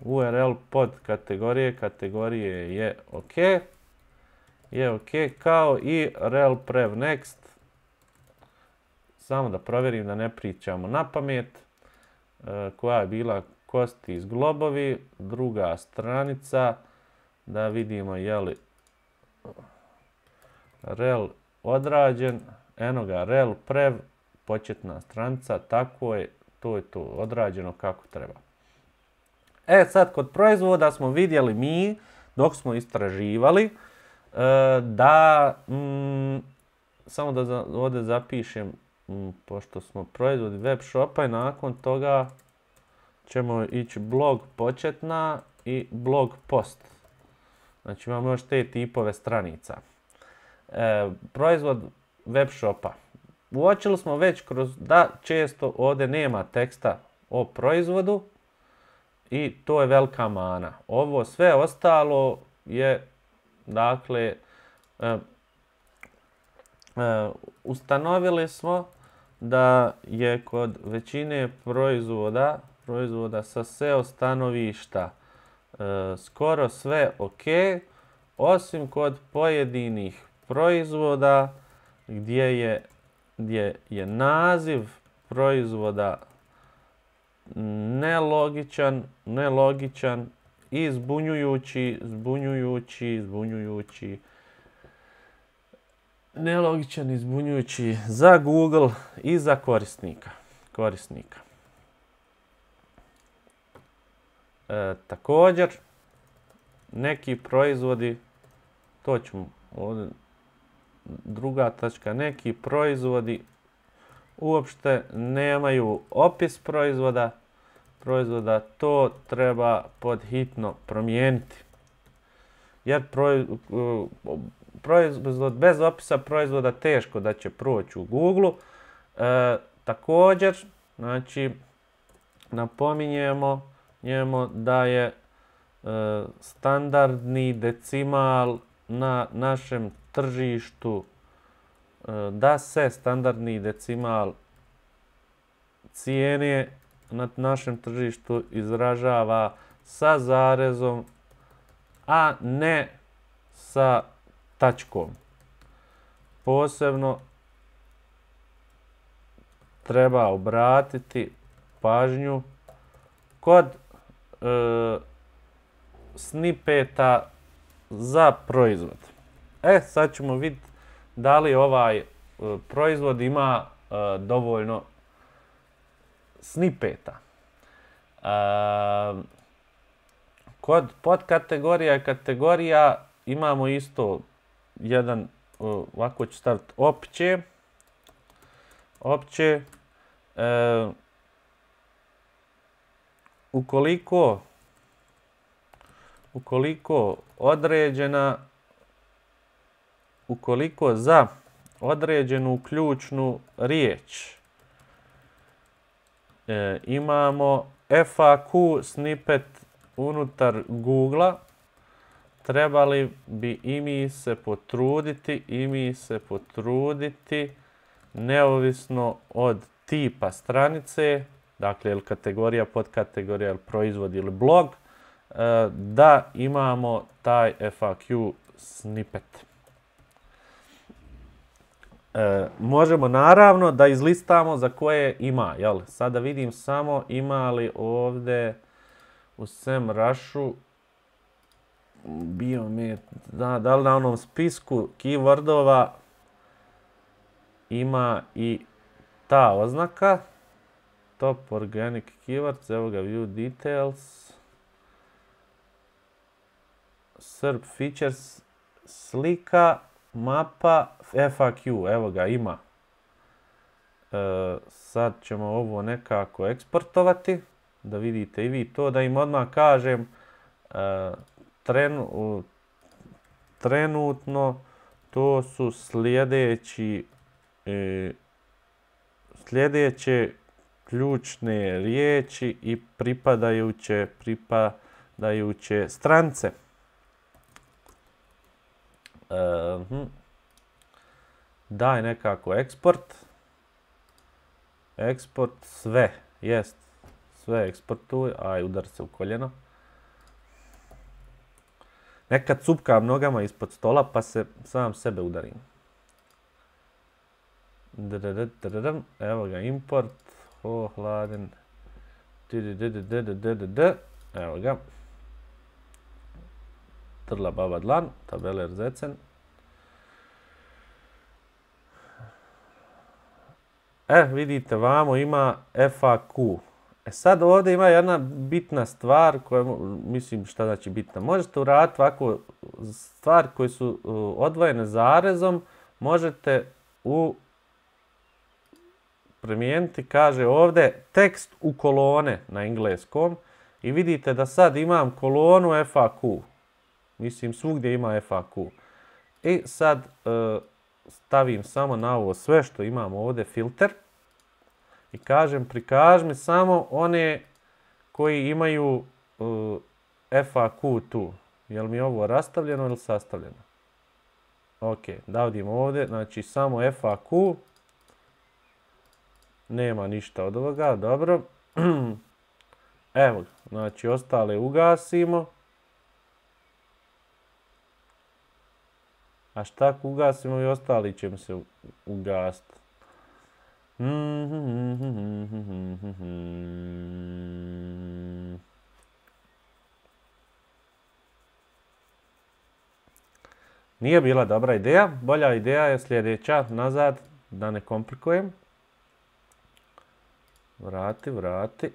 URL pod kategorije je ok, kao i rel prev next. Samo da provjerim da ne pričamo na pamet. Koja je bila kosti iz globovi, druga stranica, da vidimo je li rel odrađen, eno ga rel prev, početna stranica, tako je, to je to odrađeno kako treba. Sad kod proizvoda smo vidjeli mi, dok smo istraživali, da, samo da ovdje zapišem, pošto smo proizvodi web shopa i nakon toga ćemo ići blog početna i blog post. Znači imamo još te tipove stranica. Proizvod web shopa. Uočili smo već da često ovdje nema teksta o proizvodu i to je velika mana. Ovo sve ostalo je, dakle, ustanovili smo da je kod većine proizvoda sa SEO stanovišta skoro sve ok, osim kod pojedinih proizvoda gdje je naziv proizvoda nelogičan i zbunjujući, nelogičan i zbunjujući za Google i za korisnika. Također, neki proizvodi, to ćemo ovdje, druga tačka, neki proizvodi uopšte nemaju opis proizvoda, to treba podhitno promijeniti. Jer proizvod bez opisa proizvoda teško da će proći u Google. Također, znači, napominjemo da je standardni decimal na našem tržištu, da se standardni decimal cijene na našem tržištu izražava sa zarezom, a ne sa tačkom. Posebno treba obratiti pažnju kod snipeta za proizvod. Sad ćemo vidjeti da li ovaj proizvod ima dovoljno snipeta. Kod podkategorija i kategorija imamo isto jedan, ovako ću staviti opće. Ukoliko za određenu ključnu riječ imamo FAQ snippet unutar Google-a trebali bi i mi se potruditi neovisno od tipa stranice, dakle ili kategorija, podkategorija, ili proizvod ili blog, da imamo taj FAQ snippet. Možemo naravno da izlistamo za koje ima. Jel? Sada vidim samo ima li ovdje u SEMrušu da li na onom spisku keywordova ima i ta oznaka. Top organic keywords, evo ga view details. SERP features, slika, mapa, FAQ, evo ga ima. Sad ćemo ovo nekako eksportovati, da vidite i vi to, da im odmah kažem trenutno to su sljedeće ključne riječi i pripadajuće strance. Daj nekako eksport. Eksport sve. Jest. Sve eksportuj. Aj, udar se u koljeno. Nekad cupkam nogama ispod stola pa se sam sebe udarim. Evo ga import. Hladen. Evo ga. Trla baba dlan. Tabeler zecen. Vidite, vamo ima FAQ. Sad ovdje ima jedna bitna stvar koja, mislim šta znači bitna. Možete uraditi ovako stvari koje su odvojene zarezom, možete primijeniti, kaže ovdje, tekst u kolone na engleskom i vidite da sad imam kolonu FAQ. Mislim, svugdje ima FAQ. I sad stavim samo na ovo sve što imamo ovdje filter i kažem prikaži mi samo one koji imaju FAQ tu. Je li mi ovo rastavljeno ili sastavljeno? Ok, da vidimo ovdje, znači samo FAQ. Nema ništa od ovoga, dobro. Evo, znači ostale ugasimo. A šta ako ugasimo i ostali će mi se ugasiti? Nije bila dobra ideja. Bolja ideja je sljedeća. Nazad, da ne komplikujem. Vrati.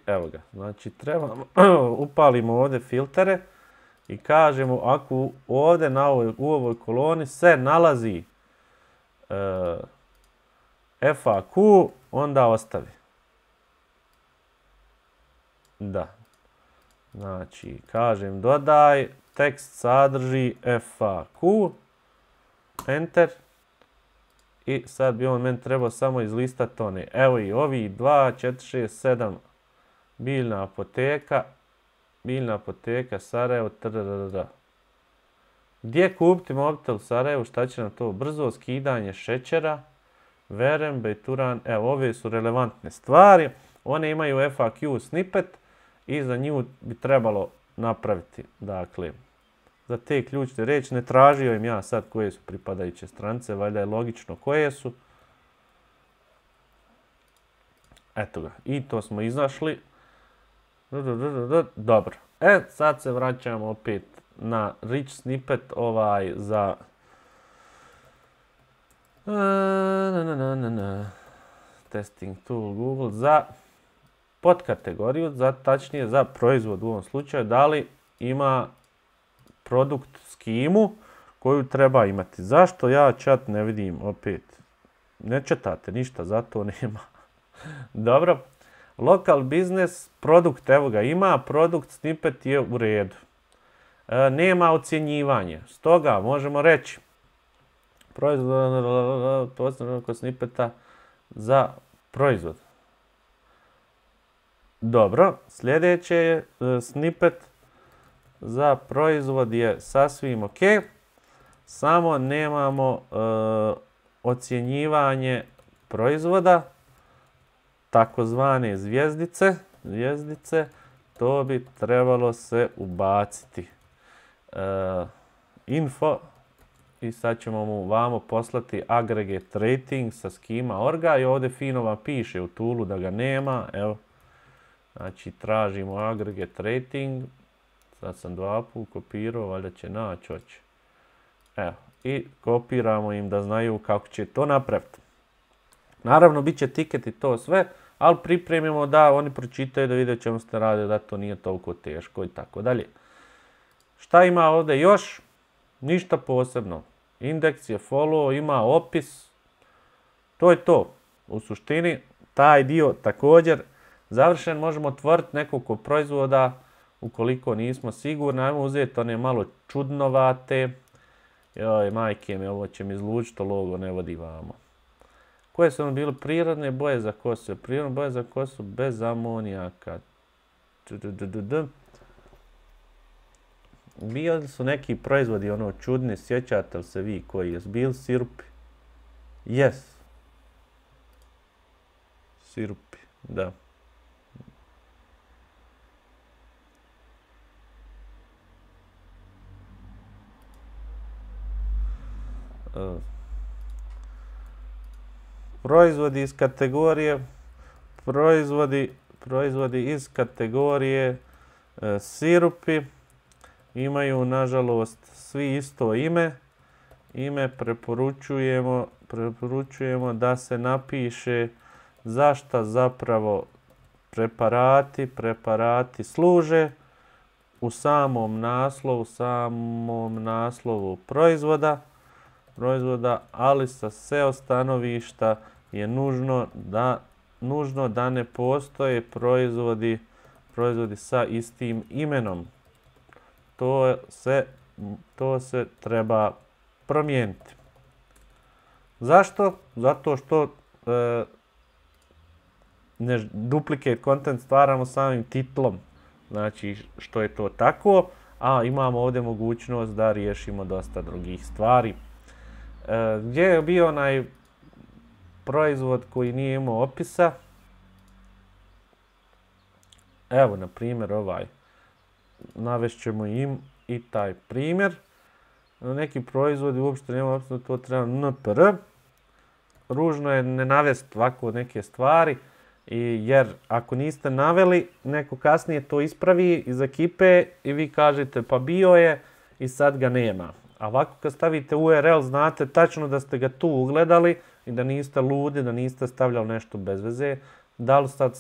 Evo ga. Znači trebamo, upalimo ovdje filtere i kažemo ako ovdje u ovoj koloni se nalazi FAQ, onda ostavi. Da. Znači, kažem dodaj, tekst sadrži FAQ, enter. I sad bi on meni trebao samo izlistati one. Evo i ovi 2, 4, 6, 7, biljna apoteka, Sarajevo, Gdje kupiti mobitel u Sarajevu, šta će nam to? Brzo skidanje šećera, Verem, Bejturan, evo ove su relevantne stvari. One imaju FAQ snippet i za nju bi trebalo napraviti, dakle, za te ključne riječi. Ne tražio im ja sad koje su pripadajuće stranice, valjda je logično koje su. Eto ga, i to smo iznašli. Dobro, sad se vraćamo opet na rich snippet za testing tool Google za podkategoriju, tačnije za proizvod u ovom slučaju, da li ima produkt skimu koju treba imati. Zašto ja chat ne vidim opet? Ne četate ništa, zato nema. Dobro. Local business, produkt, evo ga ima, produkt snippet je u redu. Nema ocjenjivanja, stoga možemo reći proizvod kod snippeta za proizvod. Dobro, sljedeće je snippet za proizvod je sasvim ok, samo nemamo ocjenjivanje proizvoda, takozvane zvjezdice, to bi trebalo se ubaciti. Info, i sad ćemo mu vamo poslati aggregate rating sa schema.org i ovdje fino vam piše u toolu da ga nema, evo. Znači tražimo aggregate rating, sad sam 2 puta kopirao, valjda će naći, hoće. Evo, i kopiramo im da znaju kako će to napraviti. Naravno, bit će tiket i to sve, ali pripremimo da oni pročitaju, da vide čemu ste rade, da to nije toliko teško i tako dalje. Šta ima ovdje još? Ništa posebno. Indeks je follow, ima opis. To je to. U suštini, taj dio također završen. Možemo otvoriti nekoliko proizvoda ukoliko nismo sigurni. Ajmo uzeti one malo čudnovate. Joj, majke mi, ovo će mi izlučiti, logo ne vodi vamo. Koje su ono bile prirodne boje za kosu? Prirodne boje za kosu bez amonijaka. Bili su neki proizvodi ono čudni, sjećate li se vi koji je? Bili sirupi? Yes. Sirupi, da. Proizvodi iz kategorije sirupi imaju nažalost svi isto ime. Preporučujemo da se napiše zašto zapravo preparati služe u samom naslovu proizvoda, ali sa SEO stanovišta je nužno da ne postoje proizvodi sa istim imenom. To se treba promijeniti. Zašto? Zato što duplicate content stvaramo samim titlom. Znači što je to tako, a imamo ovdje mogućnost da riješimo dosta drugih stvari. Gdje je bio onaj proizvod koji nije imao opisa? Evo, na primjer, ovaj. Navešćemo im i taj primjer. Neki proizvodi uopšte nema opisa, to treba NPR. Ružno je ne navesti ovako neke stvari, jer ako niste naveli, neko kasnije to ispravi iz ekipe i vi kažete pa bio je i sad ga nema. A ovako kad stavite URL znate tačno da ste ga tu ugledali i da niste ludi, da niste stavljali nešto bez veze. Da li sad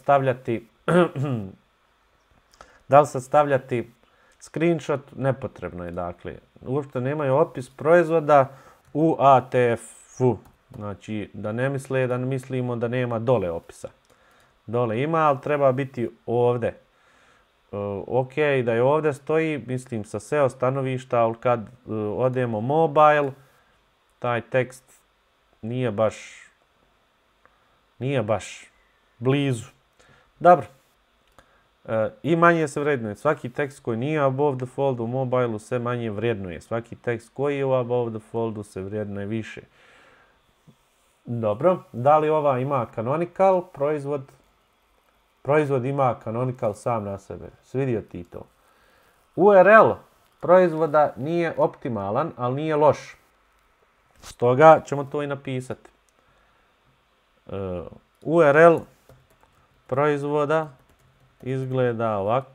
stavljati screenshot? Nepotrebno je, dakle. Uopšte nemaju opis proizvoda u ATF-u. Znači, da ne mislimo da nema dole opisa. Dole ima, ali treba biti ovdje. Ok, da je ovdje stoji, mislim sa SEO stanovišta, ali kad odemo mobile, taj tekst nije baš blizu. Dobro. I manje se vrednuje. Svaki tekst koji nije above the fold u mobilu se manje vrednuje. Svaki tekst koji je u above the foldu se vrednuje više. Dobro. Da li ova ima canonical proizvod? Proizvod ima canonical sam na sebe. Svidio ti to. URL proizvoda nije optimalan, ali nije loš. Stoga ćemo to i napisati. URL proizvoda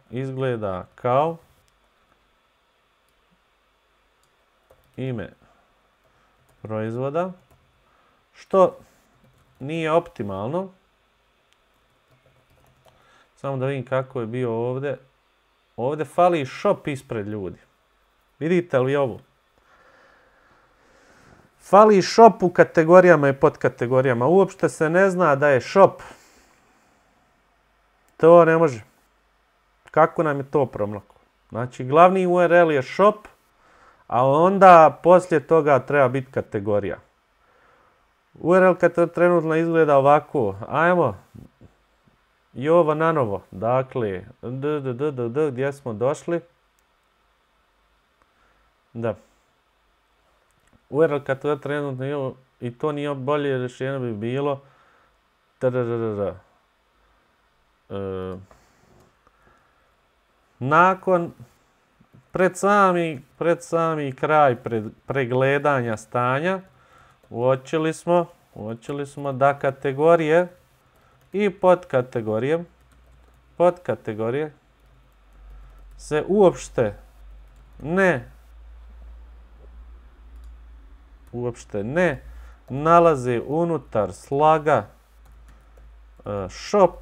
izgleda kao ime proizvoda, što nije optimalno. Samo da vidim kako je bio ovdje. Ovdje fali shop ispred ljudi. Vidite li ovo? Fali shop u kategorijama i podkategorijama. Uopšte se ne zna da je shop. To ne može. Kako nam je to promlako? Znači, glavni URL je shop, a onda poslije toga treba biti kategorija. URL kad trenutno izgleda ovako. Ajmo. I ovo na novo. Dakle, gdje smo došli? Da. URL kad to trenutno je, i to nije bolje rješenje bi bilo nakon pred sami kraj pregledanja stanja uočili smo da kategorije i podkategorije se uopšte ne nalaze unutar slaga shop,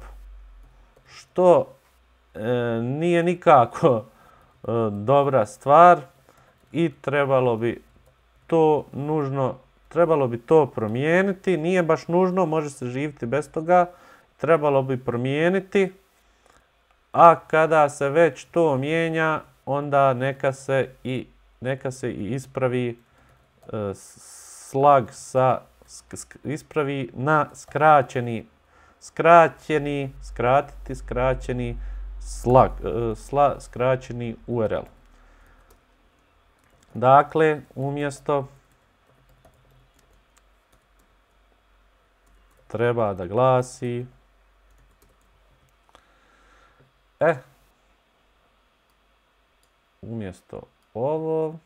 što nije nikako dobra stvar i trebalo bi to promijeniti. Nije baš nužno, može se živjeti bez toga. Trebalo bi promijeniti, a kada se već to mijenja, onda neka se i ispravi slag ispravi na skraćeni skraćeni URL. Dakle, umjesto treba da glasi umjesto ovo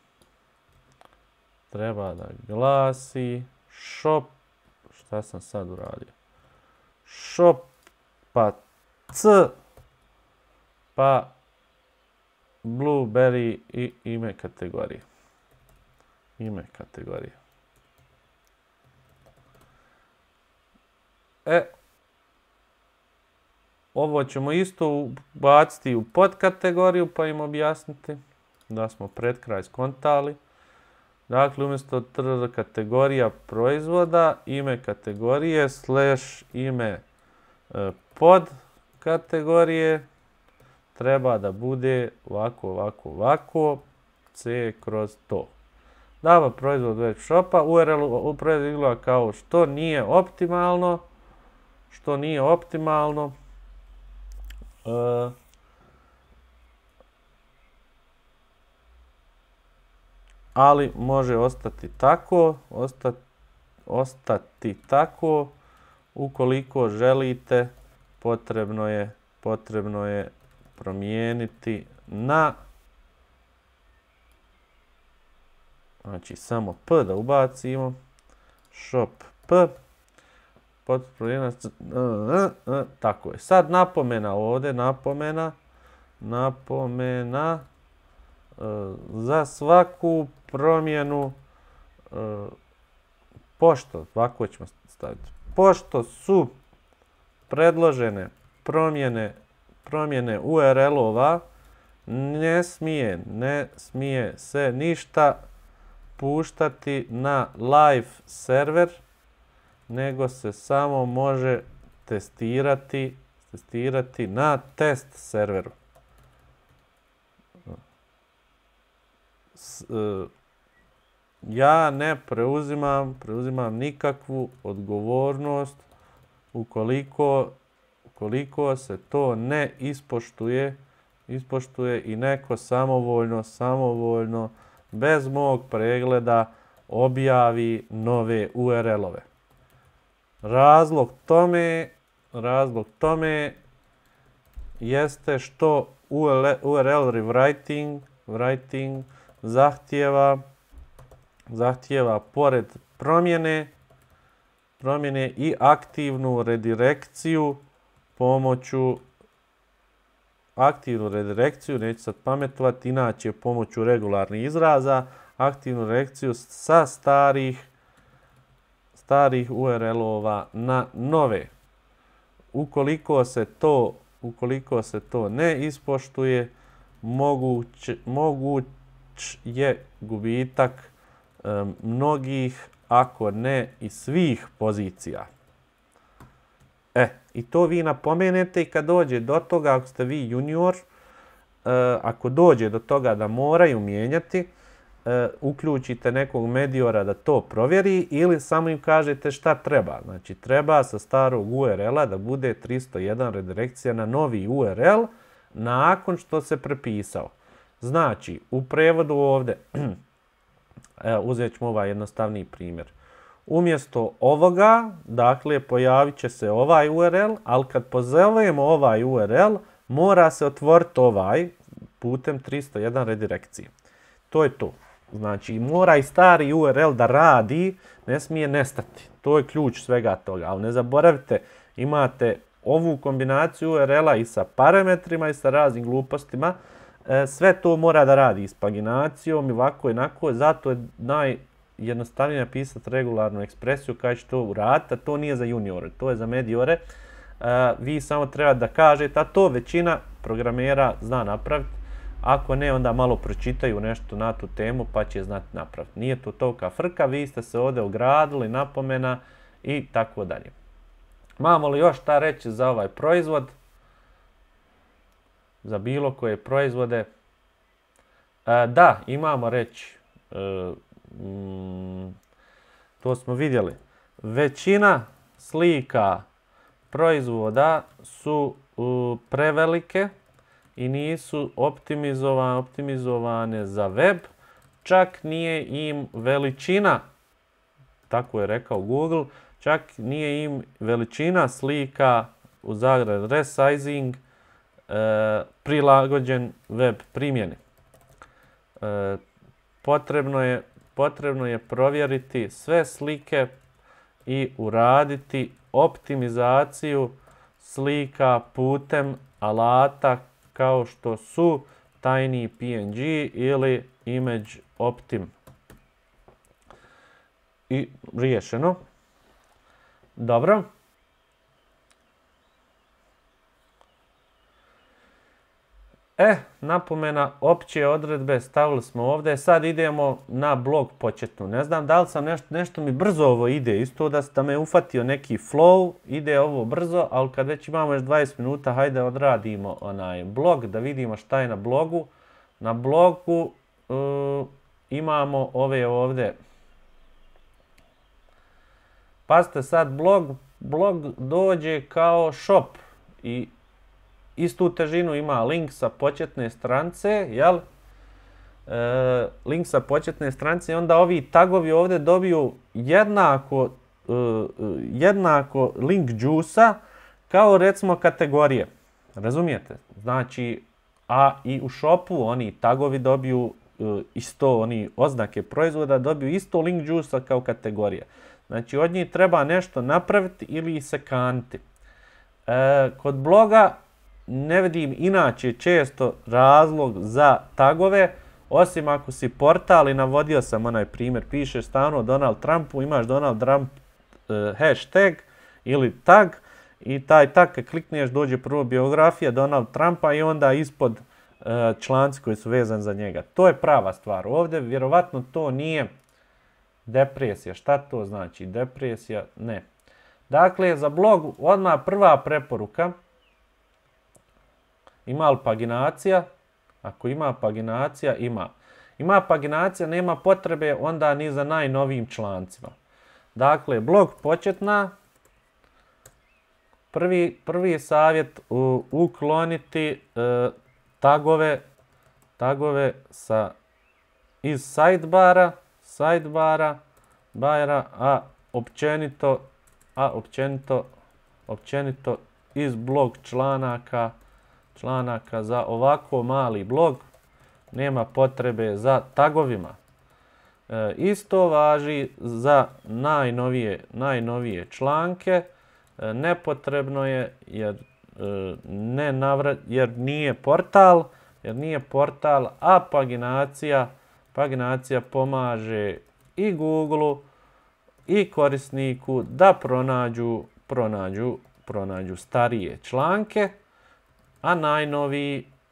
treba da glasi shop, šta sam sad uradio? Shop pa c pa Blueberry i ime kategorije. Ovo ćemo isto baciti u podkategoriju pa im objasniti da smo pred kraj skontali. Dakle, umjesto kategorija proizvoda, ime kategorije / ime pod kategorije treba da bude ovako, C kroz to. Dava proizvod web shopa, URL proizvod izgleda kao što nije optimalno. Ali može ostati tako, ukoliko želite, potrebno je promijeniti na, znači samo P da ubacimo, shop P, tako je. Sad napomena ovdje, napomena za svaku promjenu, ovako ćemo staviti, pošto su predložene promjene URL-ova, ne smije se ništa puštati na live server, nego se samo može testirati na test serveru. Ja ne preuzimam nikakvu odgovornost ukoliko se to ne ispoštuje i neko samovoljno bez mog pregleda objavi nove URL-ove. Razlog tome jeste što URL rewriting zahtijeva pored promjene i aktivnu redirekciju neću sad pametovati, inače pomoću regularnih izraza, aktivnu redirekciju sa starih URL-ova na nove. Ukoliko se to ne ispoštuje, moguć je gubitak mnogih, ako ne i svih pozicija. I to vi napomenete i kad dođe do toga, ako ste vi junior, ako dođe do toga da moraju mijenjati, uključite nekog mediora da to provjeri ili samo im kažete šta treba. Znači, treba sa starog URL-a da bude 301 redirekcija na novi URL nakon što se prepisao. Znači, u prevodu ovdje, Uzet ćemo ovaj jednostavniji primjer. Umjesto ovoga, dakle, pojavit će se ovaj URL, ali kad pozovemo ovaj URL, mora se otvoriti ovaj putem 301 redirekcije. To je to. Znači, mora i stari URL da radi, ne smije nestati. To je ključ svega toga. Ali ne zaboravite, imate ovu kombinaciju URL-a i sa parametrima i sa raznim glupostima. Sve to mora da radi s paginacijom i ovako i onako. Zato je najjednostavnije napisati regularnu ekspresiju kada će to uraditi, a to nije za juniore, to je za mediore. Vi samo treba da kažete, a to većina programera zna napraviti. Ako ne, onda malo pročitaju nešto na tu temu pa će znati napraviti. Nije to tolika frka, vi ste se ovdje ogradili, napomena i tako dalje. Imamo li još šta reći za ovaj proizvod? Za bilo koje proizvode? Da, imamo reći. To smo vidjeli. Većina slika proizvoda su prevelike i nisu optimizovane za web. Čak nije im veličina, tako je rekao Google, čak nije im veličina slika u zagradi resizing prilagođen web primjeni. Potrebno je provjeriti sve slike i uraditi optimizaciju slika putem alata kao što su TinyPNG ili ImageOptim. I riješeno. Dobro. Napomena, opće odredbe stavili smo ovdje. Sad idemo na blog početnu. Ne znam da li sam nešto mi brzo ovo ide. Isto da me ufatio neki flow. Ide ovo brzo, ali kad već imamo još 20 minuta, hajde odradimo onaj blog da vidimo šta je na blogu. Na blogu imamo ove ovdje. Pazite sad, blog dođe kao shop i istu težinu ima link sa početne stranice, jel? Link sa početne stranice i onda ovi tagovi ovdje dobiju jednako link juice-a kao recimo kategorije. Razumijete? Znači, a i u shopu oni tagovi dobiju isto, oni oznake proizvoda dobiju isto link juice-a kao kategorije. Znači, od njih treba nešto napraviti ili se kanti. Kod bloga ne vidim inače često razlog za tagove, osim ako si portal i navodio sam onaj primjer, pišeš stalno Donald Trumpu, imaš Donald Trump hashtag ili tag i taj tag kad klikneš dođe prvo biografija Donald Trumpa i onda ispod članci koji su vezani za njega. To je prava stvar. Ovdje vjerovatno to nije depresija. Šta to znači? Depresija? Ne. Dakle, za blog odmah prva preporuka. Ima li paginacija? Ako ima paginacija, ima. Ima paginacija, nema potrebe onda ni za najnovijim člancima. Dakle, blog početna. Prvi savjet ukloniti tagove iz sidebara, a općenito iz blog članaka za ovako mali blog nema potrebe za tagovima. Isto važi za najnovije članke. Nepotrebno je jer nije portal, a paginacija pomaže i Google i korisniku da pronađu starije članke, a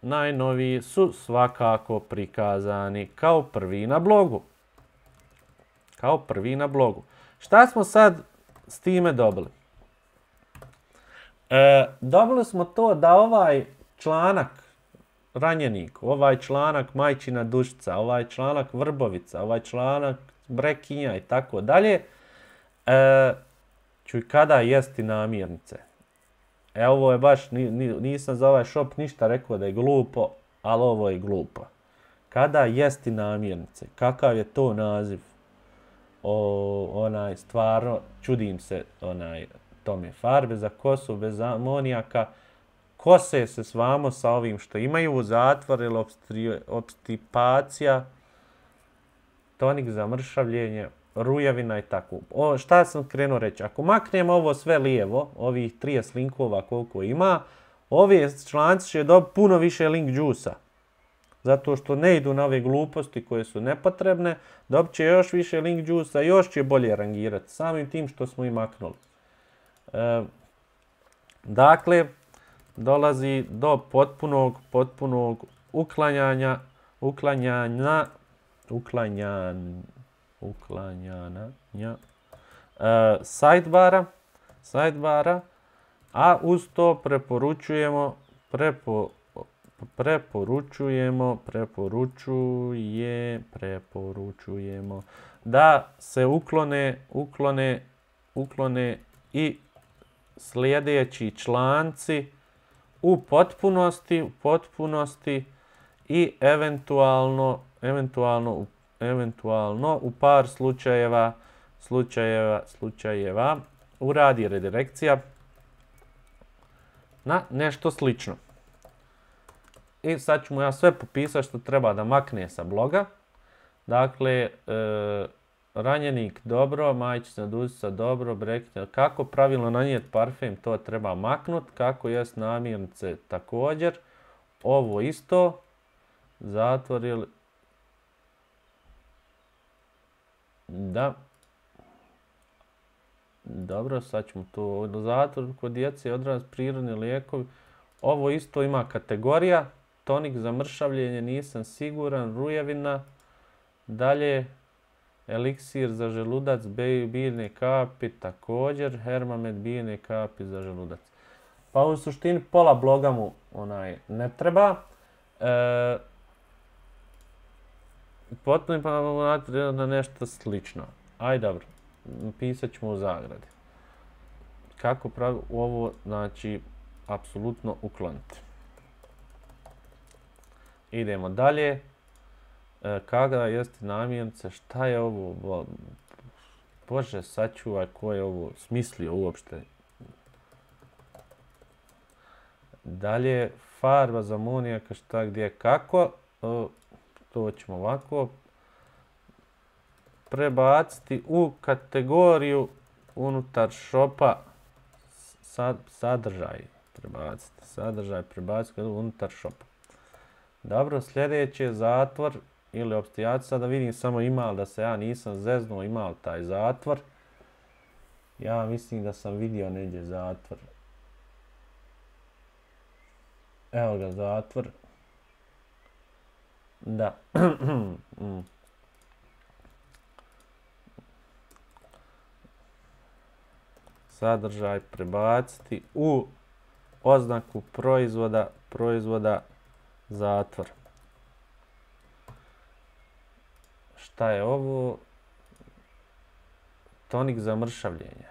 najnoviji su svakako prikazani kao prvi na blogu. Šta smo sad s time dobili? Dobili smo to da ovaj članak ranjenik, ovaj članak majčina dušica, ovaj članak vrbovica, ovaj članak brekinja i tako dalje, čuj kada jesti namirnice. Ovo je baš, nisam za ovaj shop ništa rekao da je glupo, ali ovo je glupo. Kada jesti namirnice, kakav je to naziv? Stvarno, čudim se tome. Farbe za kosu bez amonijaka, kose se svamo sa ovim što imaju, zatvor ili obstipacija, tonik za mršavljenje, rujavina i tako. Šta sam krenuo reći? Ako maknemo ovo sve lijevo, ovih 30 linkova koliko ima, ove članci će dobiti puno više link džusa. Zato što ne idu na ove gluposti koje su nepotrebne, dobit će još više link džusa, još će bolje rangirati, samim tim što smo i maknuli. Dakle, dolazi do potpunog uklanjanja sidebara, a uz to preporučujemo da se uklone i sljedeći članci u potpunosti i eventualno u par slučajeva uradi redirekcija na nešto slično. I sad ću mu ja sve popisati što treba da makne sa bloga. Dakle, ranjenik dobro, majčica dusica dobro, brekita. Kako pravilno nanijeti parfem, to treba maknut. Kako jest namirnice također. Ovo isto. Zatvor ili... Da. Dobro, sad ćemo to. Zatvor kod djece, odraz, prirodni lijekovi. Ovo isto ima kategorija. Tonik za mršavljenje, nisam siguran, rujevina. Dalje, eliksir za želudac, biljne kapi, također, Hermamed, biljne kapi za želudac. Pa u suštini pola bloga mu ne treba. Potpuno pa na nešto slično. Ajde, dobro, pisat ćemo u zagradi. Kako pravi ovo, znači, apsolutno ukloniti. Idemo dalje. Kada jeste namirnice, šta je ovo? Bože, sačuvaj, ko je ovo smislio uopšte. Dalje, farba za amonijaka, šta, gdje, kako. To ćemo ovako prebaciti u kategoriju unutar shopa sadržaj. Prebaciti unutar shopa. Dobro, sljedeći je zatvor ili opstijacija. Sada vidim samo ima li da se ja nisam zeznuo, ima li taj zatvor. Ja mislim da sam vidio neđe zatvor. Evo ga zatvor. Da. Sadržaj prebaciti u oznaku proizvoda zatvor. Šta je ovo? Tonik za mršavljenje.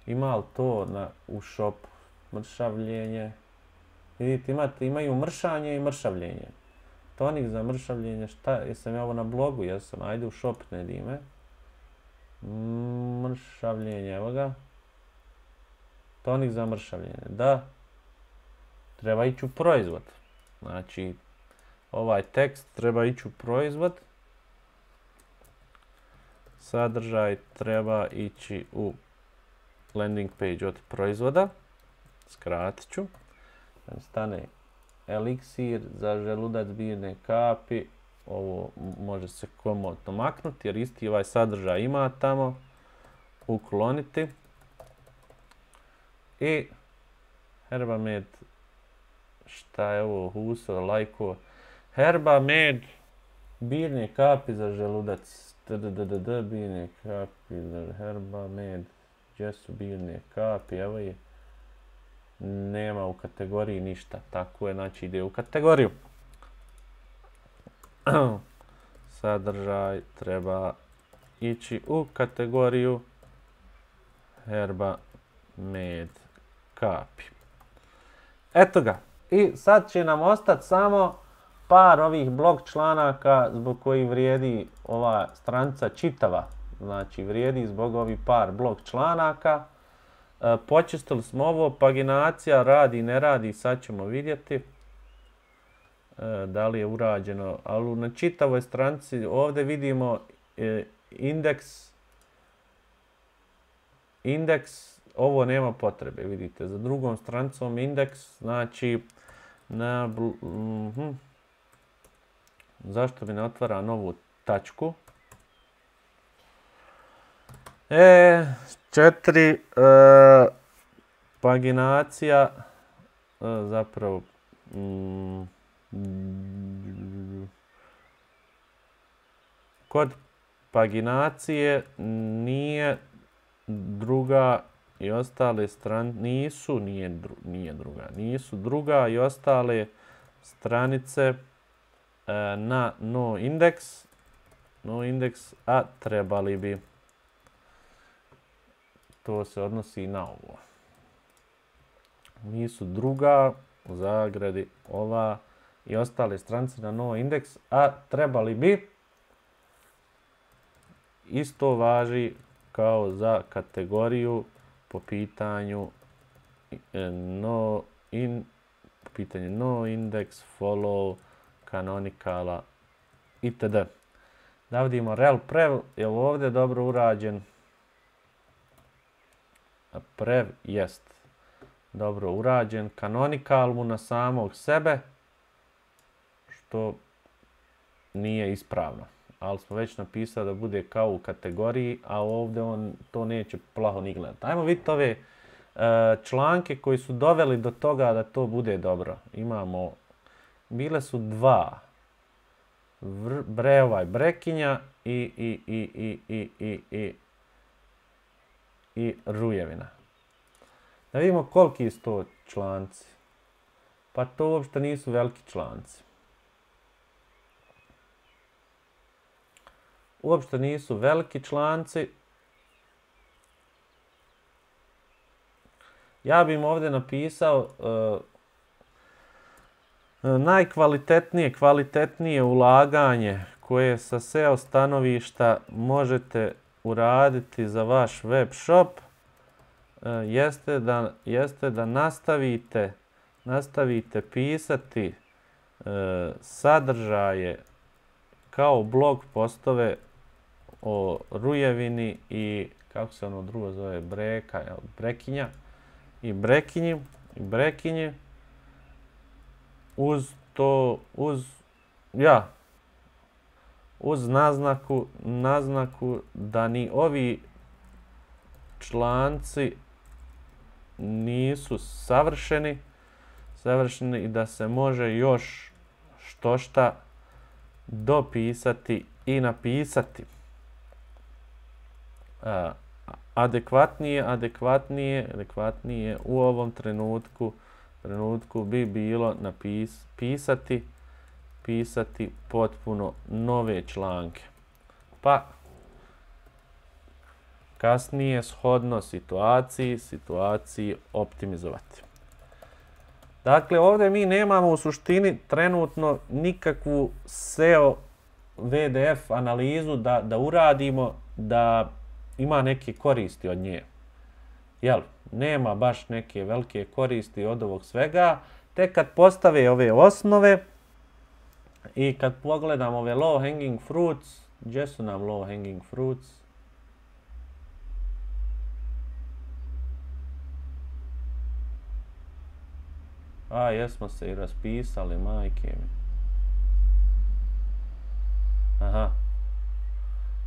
Ima li to u shopu? Mršavljenje. Vidite, imaju mršanje i mršavljenje. Tonik za mršavljenje, šta? Jesam ja ovo na blogu? Jesam. Ajde u shop, ne dime. Mršavljenje, evo ga. Tonik za mršavljenje, da. Treba ići u proizvod. Znači, ovaj tekst treba ići u proizvod. Sadržaj treba ići u landing page od proizvoda. Skratit ću. Stane eliksir za želudac, biljne kapi. Ovo može se komotno maknuti jer isti ovaj sadržaj ima tamo. Ukloniti. I Herbamed, šta je ovo, huso, lajko. Herbamed, biljne kapi za želudac. Biljne kapi za Herbamed. Gdje su biljne kapi, evo je. Nema u kategoriji ništa, tako je, znači ide u kategoriju. Sadržaj treba ići u kategoriju Herbamed kapi. Eto ga. I sad će nam ostati samo par ovih blok članaka zbog kojih vrijedi ova stranica čitava. Znači, vrijedi zbog ovih par blok članaka. Počistili smo ovo, paginacija radi, ne radi, sad ćemo vidjeti da li je urađeno. Ali na čitavoj stranici ovdje vidimo indeks, ovo nema potrebe, vidite, za drugom stranicom indeks, znači, zašto mi ne otvara novu tačku? 4, paginacija, zapravo, kod paginacije nije druga i ostale stranice, nisu druga i ostale stranice na noindex, a trebali bi. To se odnosi na ovo. Nisu druga, u zagradi, ova i ostale stranice na noindex, a trebali bi. Isto važi kao za kategoriju po pitanju noindex, follow, canonicala itd. Da vidimo rel prev, je li ovdje dobro urađen? Prev jest dobro urađen. Canonical mu na samog sebe, što nije ispravno. Ali smo već napisali da bude kao u kategoriji, a ovdje on to neće plaho ni gledati. Ajmo vidjeti ove članke koji su doveli do toga da to bude dobro. Bile su dva. Brekinja i Rujevina. Da vidimo koliki su to članci. Pa to uopšte nisu veliki članci. Uopšte nisu veliki članci. Ja bih im ovdje napisao kvalitetnije ulaganje koje sa SEO stanovišta možete uraditi za vaš web shop jeste da nastavite pisati sadržaje kao blog postove o Rujevini i kako se ono drugo zove, Brekinja i Brekinji uz naznaku da ni ovi članci nisu savršeni i da se može još štošta dopisati i napisati. Adekvatnije u ovom trenutku bi bilo pisati potpuno nove članke. Pa kasnije shodno situaciji optimizovati. Dakle, ovdje mi nemamo u suštini trenutno nikakvu SEO VDF analizu da uradimo da ima neke koristi od nje. Jel? Nema baš neke velike koristi od ovog svega. Tek kad postave ove osnove i kad pogledam ove low hanging fruits, gdje su nam low hanging fruits? Jesmo se i raspisali, majke mi. Aha.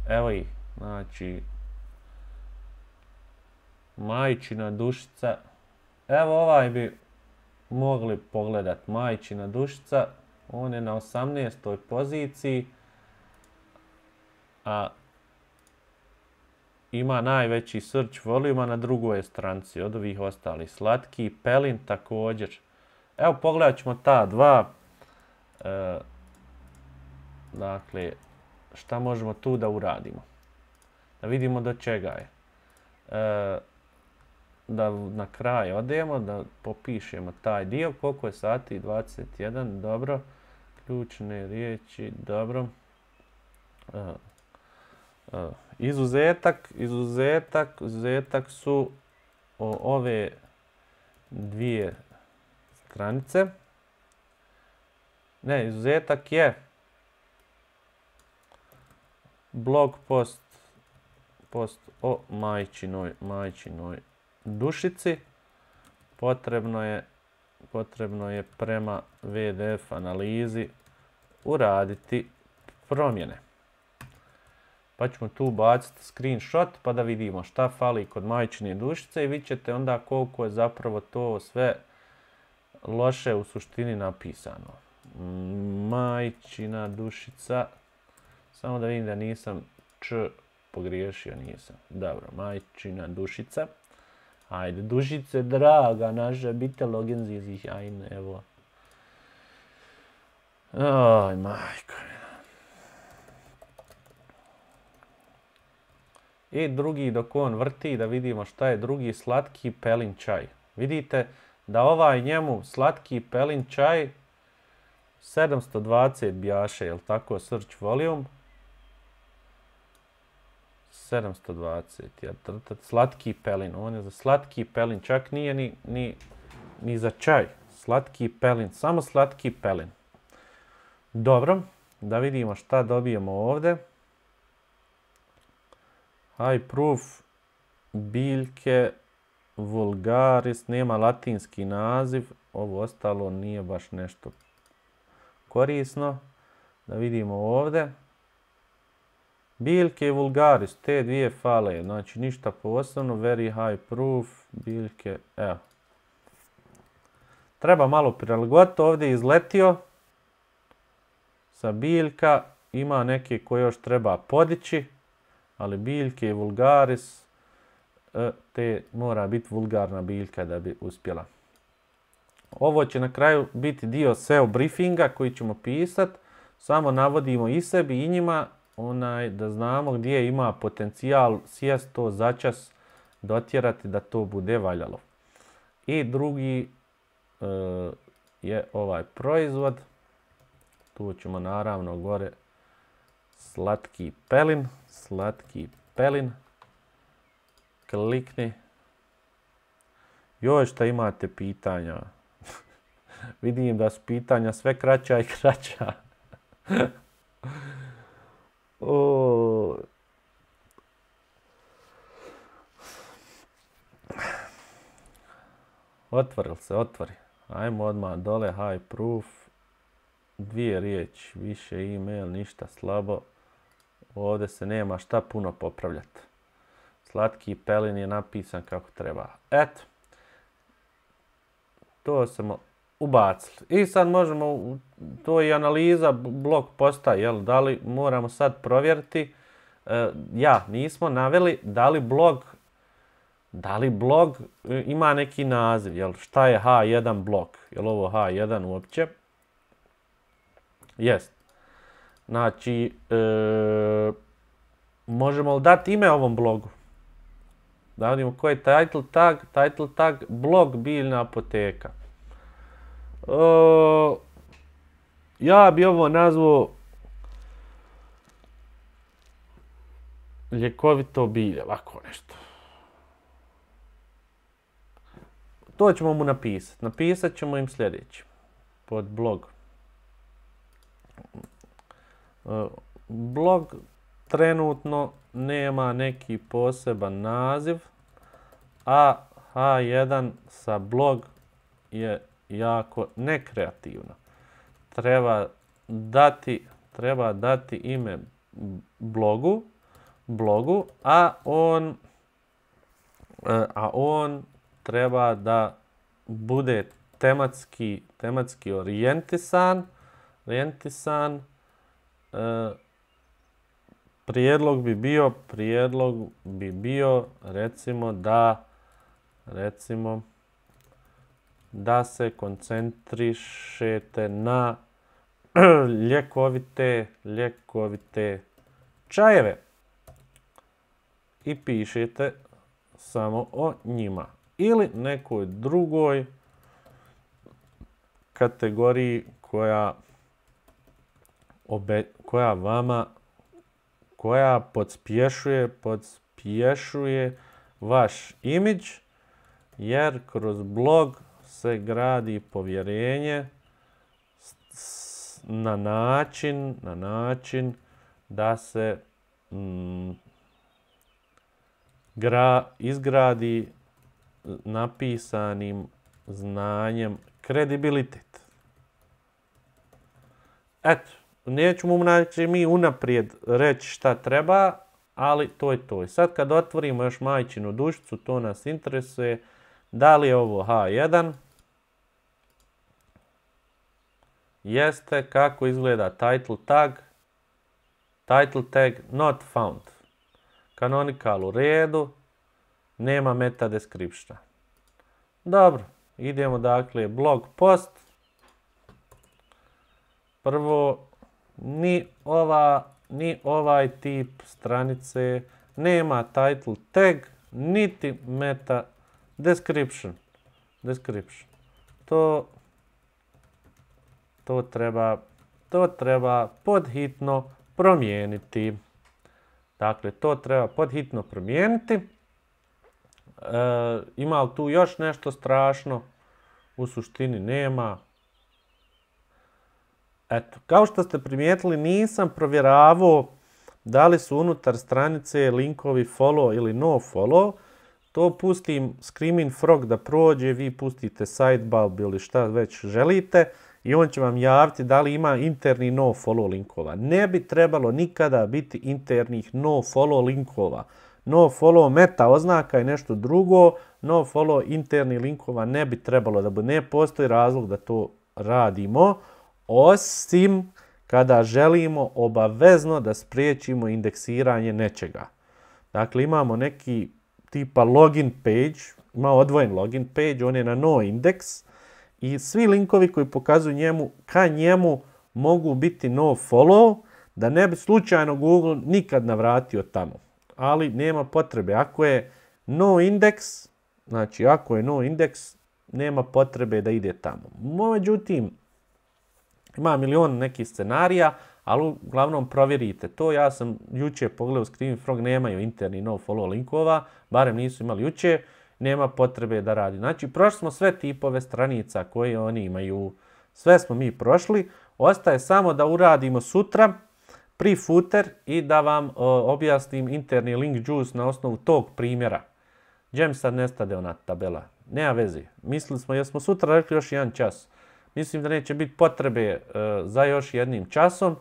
Evo ih, znači, Majčina dušica. Evo ovaj bi mogli pogledat, Majčina dušica. On je na 18. poziciji, a ima najveći search volume na drugoj stranici od ovih ostalih. Slatki pelin također. Evo pogledat ćemo ta dva. Dakle, šta možemo tu da uradimo? Da vidimo do čega je. Da na kraj odemo, da popišemo taj dio. Koliko je sati? 21, dobro. Ključne riječi, dobro. Izuzetak su ove dvije stranice. Ne, izuzetak je blog post o majčinoj dušici. Potrebno je prema VDF analizi uraditi promjene. Pa ćemo tu baciti screenshot pa da vidimo šta fali kod majčine dušice i vidjet ćete onda koliko je zapravo to sve loše u suštini napisano. Majčina dušica. Samo da vidim da nisam pogriješio, nisam. Dobro, majčina dušica. Ajde, dušice draga naša, bitte logen Sie sich ein, evo. Aj, majko. I drugi, dok on vrti, da vidimo šta je drugi, slatki pelin čaj. Vidite da ovaj njemu slatki pelin čaj 720 bjaše, jel tako, search volume. 720, slatki pelin, on je za slatki pelin, čak nije ni za čaj. Slatki pelin, samo slatki pelin. Dobro, da vidimo šta dobijemo ovdje. High proof biljke vulgaris, nema latinski naziv, ovo ostalo nije baš nešto korisno. Da vidimo ovdje. Biljke vulgaris, te dvije fale, znači ništa posebno, very high proof, biljke, evo. Treba malo prilagoditi, ovdje je izletio sa biljka, ima neke koje još treba podići, ali biljke i vulgaris, te mora biti vulgarna biljka da bi uspjela. Ovo će na kraju biti dio SEO briefinga koji ćemo pisati, samo navodimo i sebi i njima, da znamo gdje ima potencijal sjest to začas dotjerati da to bude valjalo. I drugi je ovaj proizvod. Tu ćemo naravno gore slatki pelin. Klikni. Joj, šta imate pitanja? Vidim da su pitanja sve kraća i kraća. Otvori. Ajmo odmah dole, high proof. Dvije riječi, više email, ništa slabo. Ovdje se nema šta puno popravljati. Slatki pelin je napisan kako treba. Eto. To smo ubacili. I sad možemo, to je analiza blog posta, jel? Da li moramo sad provjeriti, nismo naveli da li blog ima neki naziv, jel? Šta je H1 blog? Jel ovo H1 uopće? Jest. Znači, možemo li dati ime ovom blogu? Da vidimo koji je title tag blog biljna apoteka. Ja bi ovo nazvao ljekovito bilje, ovako nešto. To ćemo mu napisati. Napisat ćemo im sljedeće. Pod blog. Blog trenutno nema neki poseban naziv, a H1 sa blog je jako nekreativno. Treba dati ime blogu, a on treba da bude tematski orijentisan. Prijedlog bi bio recimo da se koncentrišete na ljekovite čajeve i pišete samo o njima ili nekoj drugoj kategoriji koja koja podspješuje vaš imidž, jer kroz blog se gradi povjerenje na način da se izgradi napisanim znanjem kredibilitet. Eto, nećemo mi unaprijed reći šta treba, ali to je to. I sad kad otvorimo još majčinu dušicu, to nas interesuje. Da li je ovo H1? Jeste. Kako izgleda title tag? Title tag not found. Canonical u redu. Nema meta descriptiona. Dobro. Idemo dakle blog post. Prvo, ni ovaj tip stranice nema title tag, niti meta description. To treba podhitno promijeniti. Dakle, to treba podhitno promijeniti. Ima li tu još nešto strašno? U suštini nema. Eto, kao što ste primijetili, nisam provjeravao da li su unutar stranice linkovi follow ili no follow. To pustim Screaming Frog da prođe, vi pustite Sidebulb ili šta već želite i on će vam javiti da li ima interni no follow linkova. Ne bi trebalo nikada biti internih no follow linkova. No follow meta oznaka je nešto drugo, no follow interni linkova ne bi trebalo da bude. Ne postoji razlog da to radimo, osim kada želimo obavezno da spriječimo indeksiranje nečega. Dakle, imamo neki tipa login page, ima odvojen login page, on je na no indeks i svi linkovi koji pokazuju ka njemu mogu biti no follow, da ne bi slučajno Google nikad navratio tamo. Ali nema potrebe. Ako je no indeks, znači ako je no indeks, nema potrebe da ide tamo. Međutim, ima milion nekih scenarija, ali uglavnom provjerite to. Ja sam jučer pogledao Screaming Frog, nemaju interni no follow linkova, barem nisu imali jučer, nema potrebe da radi. Znači, prošli smo sve tipove stranica koje oni imaju. Sve smo mi prošli. Ostaje samo da uradimo sutra pre-footer i da vam objasnim interni link juice na osnovu tog primjera. Gdje mi sad nestade ona tabela? Nema veze. Mislili smo, jesmo sutra rekli još jedan čas. Mislim da neće biti potrebe za još jednim časom.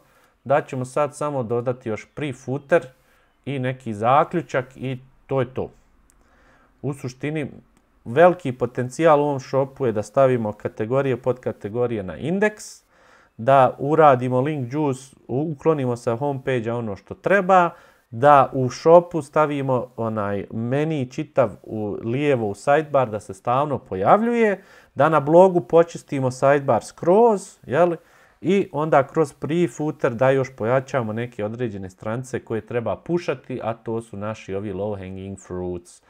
Da ćemo sad samo dodati još pre-footer i neki zaključak i to je to. U suštini, veliki potencijal u ovom shopu je da stavimo kategorije, podkategorije na indeks, da uradimo link juice, uklonimo sa homepage-a ono što treba, da u shopu stavimo onaj meni čitav lijevo u sidebar da se stalno pojavljuje, da na blogu počistimo sidebar skroz, jel? I onda kroz pre-footer da još pojačamo neke određene stranice koje treba pušati, a to su naši ovi low hanging fruits.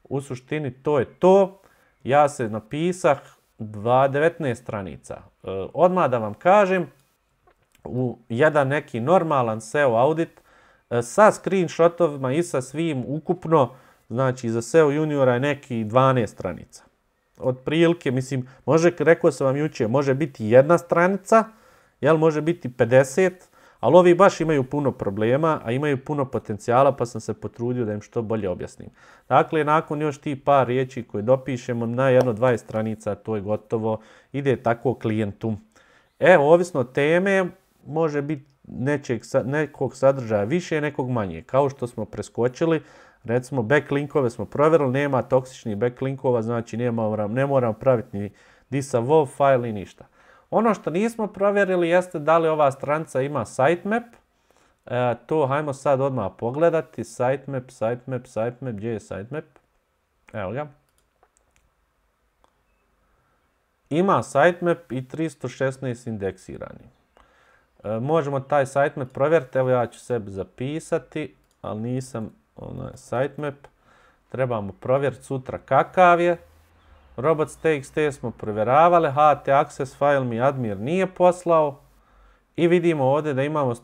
U suštini to je to. Ja se napisah 19 stranica. Odmah da vam kažem, u jedan neki normalan SEO audit sa screenshotovima i sa svim ukupno, znači za SEO juniora je neki 12 stranica. Od prilike, mislim, rekao sam vam jučer, može biti jedna stranica, jel, može biti 50, ali ovi baš imaju puno problema, a imaju puno potencijala, pa sam se potrudio da im što bolje objasnim. Dakle, nakon još ti par riječi koje dopišemo na jedno 20 stranica, to je gotovo, ide tako klijentu. Evo, ovisno od teme, može biti nekog sadržaja više, nekog manje. Kao što smo preskočili, recimo backlinkove smo provjerili, nema toksičnih backlinkova, znači ne moramo praviti ni disavow file i ništa. Ono što nismo provjerili jeste da li ova stranica ima sitemap. To hajmo sad odmah pogledati. Sitemap, gdje je sitemap? Evo ga. Ima sitemap i 316 indeksirani. Možemo taj sitemap provjeriti. Evo ja ću sebi zapisati, ali nisam sitemap. Trebamo provjeriti sutra kakav je. Robots.txt smo provjeravali, HT access file mi admin nije poslao I vidimo ovdje da imamo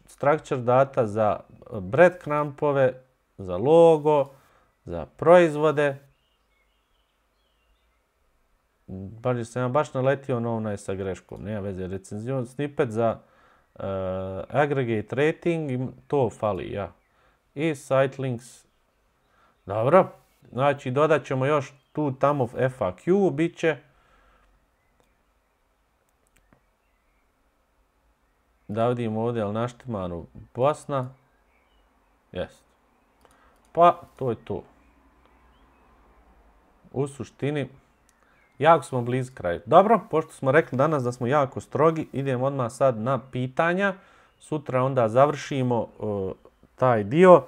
structure data za breadcrumbove, za logo, za proizvode. Sam ja baš naletio na onaj sa greškom, nema veze, recenzion snippet za aggregate rating, to fali, ja. I site links, dobro, znači dodat ćemo još tu tamo FAQ, bit će. Da vidimo ovdje, ali naštimanu Bosna, jest. Pa, to je to. U suštini, jako smo blizu kraju. Dobro, pošto smo rekli danas da smo jako strogi, idemo odmah sad na pitanja. Sutra onda završimo taj dio,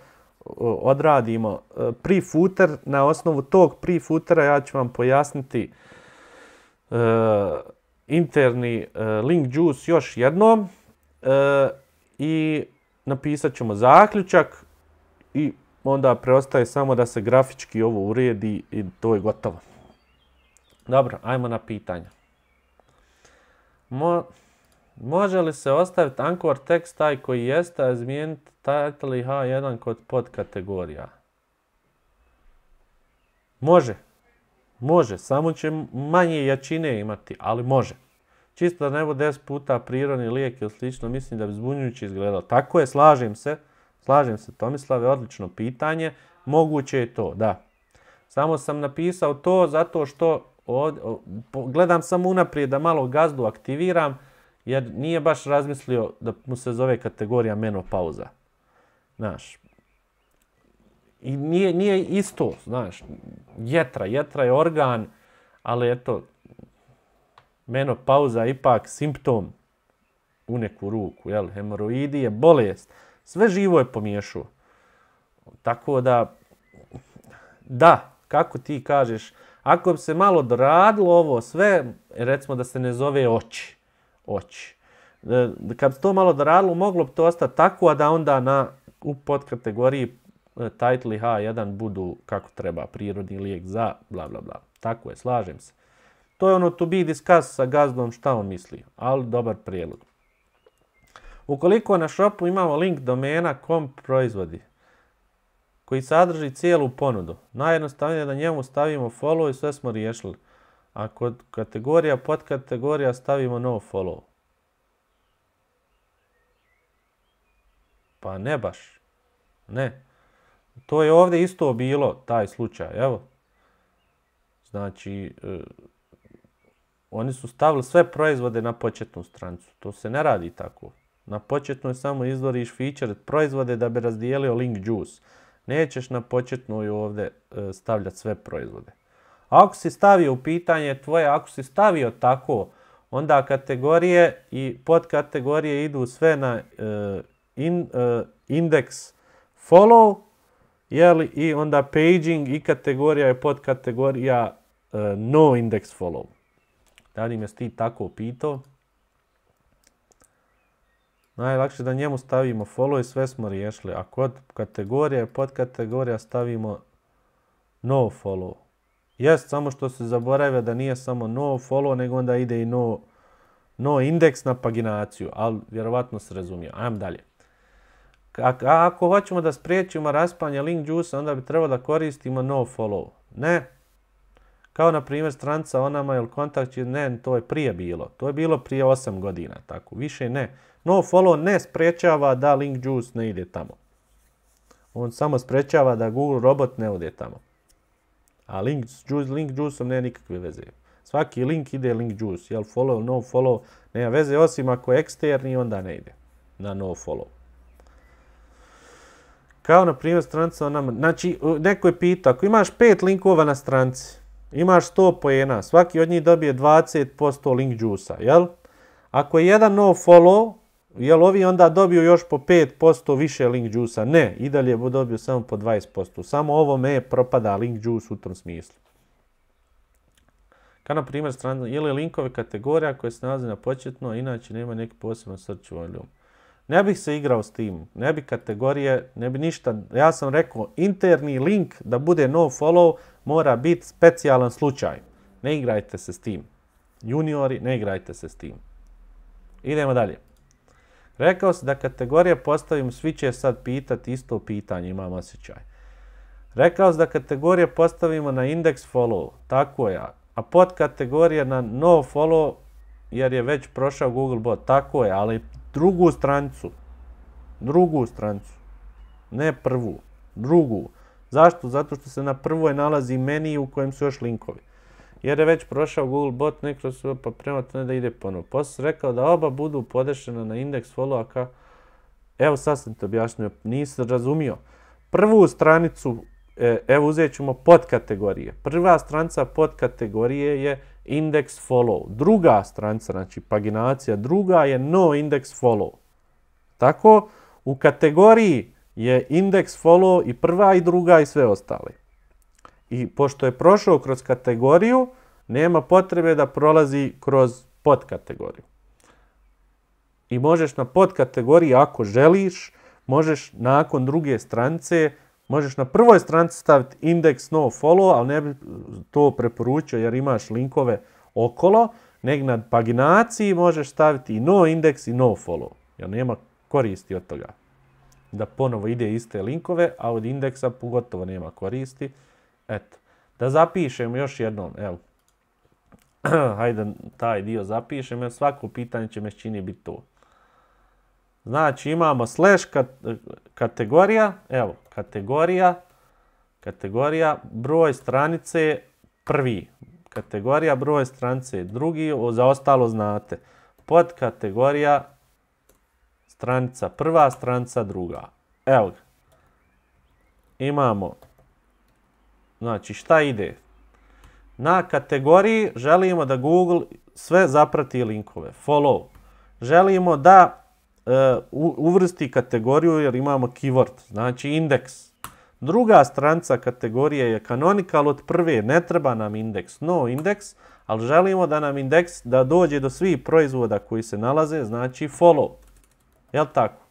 odradimo pre-footer. Na osnovu tog pre-footera ja ću vam pojasniti interni link juice još jednom i napisat ćemo zaključak i onda preostaje samo da se grafički ovo uredi i to je gotovo. Dobro, ajmo na pitanja. Može li se ostaviti anchor tekst taj koji jeste, a izmijeniti title i H1 kod podkategorija? Može. Može, samo će manje jačine imati, ali može. Čisto da ne bude 10 puta prirodni lijek ili slično, mislim da bi zbunjujuće izgledalo. Tako je, slažem se. Slažem se, Tomislave, odlično pitanje. Moguće je to, da. Samo sam napisao to zato što gledam samo unaprijed da malo gazdu aktiviram, jer nije baš razmislio da mu se zove kategorija menopauza. Znaš. I nije isto, znaš. Jetra je organ, ali eto, menopauza je ipak simptom u neku ruku, jel? Hemoroidi je bolest. Sve živo je pomiješao. Tako da, kako ti kažeš, ako bi se malo doradilo ovo sve, recimo da se ne zove oči. Kad bi to malo doradilo, moglo bi to ostati tako, a da onda u podkategoriji title i H1 budu kako treba, prirodni lijek za bla bla bla. Tako je, slažem se. To je ono to be discuss sa gazdom šta on misli, ali dobar prijedlog. Ukoliko na shopu imamo link domena kom proizvodi, koji sadrži cijelu ponudu, najjednostavnije je da njemu stavimo follow i sve smo riješili. A kod kategorija, podkategorija stavimo no follow. Pa ne baš. Ne. To je ovdje isto bilo, taj slučaj, evo. Znači, oni su stavili sve proizvode na početnu stranicu. To se ne radi tako. Na početnoj samo izvoriš feature proizvode da bi razdijelio link juice. Nećeš na početnoj ovdje stavljati sve proizvode. Ako si stavio u pitanje tvoje, ako si stavio tako, onda kategorije i podkategorije idu sve na index follow, jeli, i onda paging i kategorija i podkategorija no index follow. Da li me si ti tako pitao? Najlakše da njemu stavimo follow i sve smo riješili. A kod kategorije i podkategorija stavimo no follow. Jest, samo što se zaboravlja da nije samo no follow, nego onda ide i no index na paginaciju. Ali vjerovatno se razumije. Ajmo dalje. Ako hoćemo da spriječimo raspanje link juice, onda bi trebalo da koristimo no follow. Ne. Kao na primjer stranica o nama ili kontakt, ne, to je prije bilo. To je bilo prije 8 godina. Tako, više ne. No follow ne sprečava da link juice ne ide tamo. On samo sprečava da Google robot ne ode tamo. A link juiceom nema nikakve veze. Svaki link ide link juice. Jel follow, no follow, nema veze, osim ako je eksterni, onda ne ide na no follow. Kao na primjer stranica o nama. Znači, neko je pitao, ako imaš 5 linkova na stranici, imaš 100 poena, svaki od njih dobije 20% link juice-a, jel? Ako je jedan no follow, jel ovi onda dobiju još po 5% više link juice-a? Ne, i dalje bu dobio samo po 20%. Samo ovome propada link juice u tom smislu. Kao na primjer stranica, ili linkove kategorija koje se nalazi na početno, a inače nema neki poseban search volume. Ne bih se igrao s tim, ne bi kategorije, ne bi ništa. Ja sam rekao, interni link da bude no follow mora biti specijalan slučaj. Ne igrajte se s tim. Juniori, ne igrajte se s tim. Idemo dalje. Rekao si da kategorije postavimo, svi će sad pitati isto pitanje, imam osjećaj. Rekao si da kategorije postavimo na index follow, tako je, a podkategorije na no follow, jer je već prošao Google bot, tako je, ali drugu stranicu, ne prvu, drugu. Zašto? Zato što se na prvoj nalazi meni u kojem su još linkovi. Jer je već prošao Google bot, neko se pa prema to da ide ponovo. Poslije sam rekao da oba budu podešena na indeks follow-a. Evo sad sam te objasnio, nisam razumio. Prvu stranicu, evo uzet ćemo podkategorije. Prva stranica podkategorije je index follow. Druga stranica, znači paginacija, druga je no index follow. Tako, u kategoriji je index follow i prva i druga i sve ostale. I pošto je prošao kroz kategoriju, nema potrebe da prolazi kroz podkategoriju. I možeš na podkategoriji, ako želiš, možeš nakon druge stranice, možeš na prvoj stranici staviti index no follow, ali ne bi to preporučio jer imaš linkove okolo, nego na paginaciji možeš staviti i no index i no follow, jer nema koristi od toga. Da ponovo ide iste linkove, a od indeksa pogotovo nema koristi. Eto, da zapišem još jednom, evo. Hajde taj dio zapišem, jer svako pitanje će me čini biti to. Znači imamo slash kategorija, evo, kategorija, broj stranice prvi, kategorija, broj stranice drugi, za ostalo znate. Podkategorija, stranica prva, stranica druga. Evo ga. Imamo, znači šta ide? Na kategoriji želimo da Google sve zaprati linkove, follow. Želimo da uvrsti kategoriju jer imamo keyword, znači indeks. Druga stranica kategorije je canonical od prve, ne treba nam indeks, no indeks, ali želimo da nam indeks da dođe do svih proizvoda koji se nalaze, znači follow. Jel tako?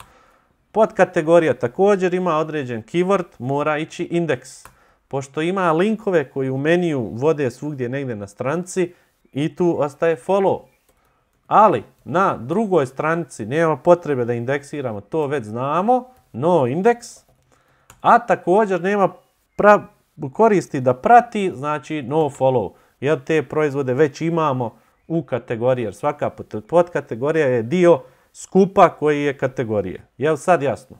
Podkategorija također ima određen keyword, mora ići indeks. Pošto ima linkove koji u meniju vode svugdje negdje na stranici i tu ostaje follow. Ali na drugoj stranici nema potrebe da indeksiramo, to već znamo, no indeks, a također nema koristi da prati, znači no follow, jer te proizvode već imamo u kategoriji, jer svaka podkategorija je dio skupa koji je kategorije. Je li sad jasno?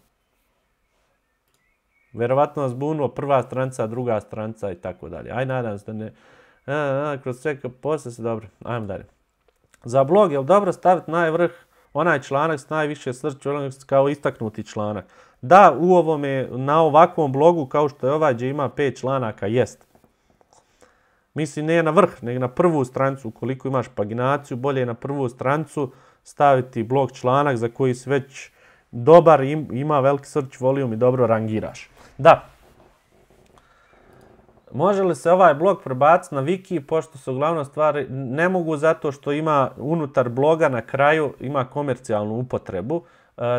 Verovatno vas zbunulo prva stranica, druga stranica i tako dalje. Aj, nadam se da ne... kroz sve poslije se dobro. Ajmo dalje. Za blog je li dobro staviti najvrh onaj članak s najviše search kao istaknuti članak? Da, u ovome, na ovakvom blogu kao što je ovaj gdje ima 5 članaka, jest. Mislim, ne na vrh, nego na prvu stranicu. Ukoliko imaš paginaciju, bolje je na prvu stranicu staviti blog članak za koji si već dobar, ima veliki search volume i dobro rangiraš. Da. Može li se ovaj blog prebaciti na wiki, pošto se uglavnom stvari ne mogu zato što ima unutar bloga na kraju ima komercijalnu upotrebu.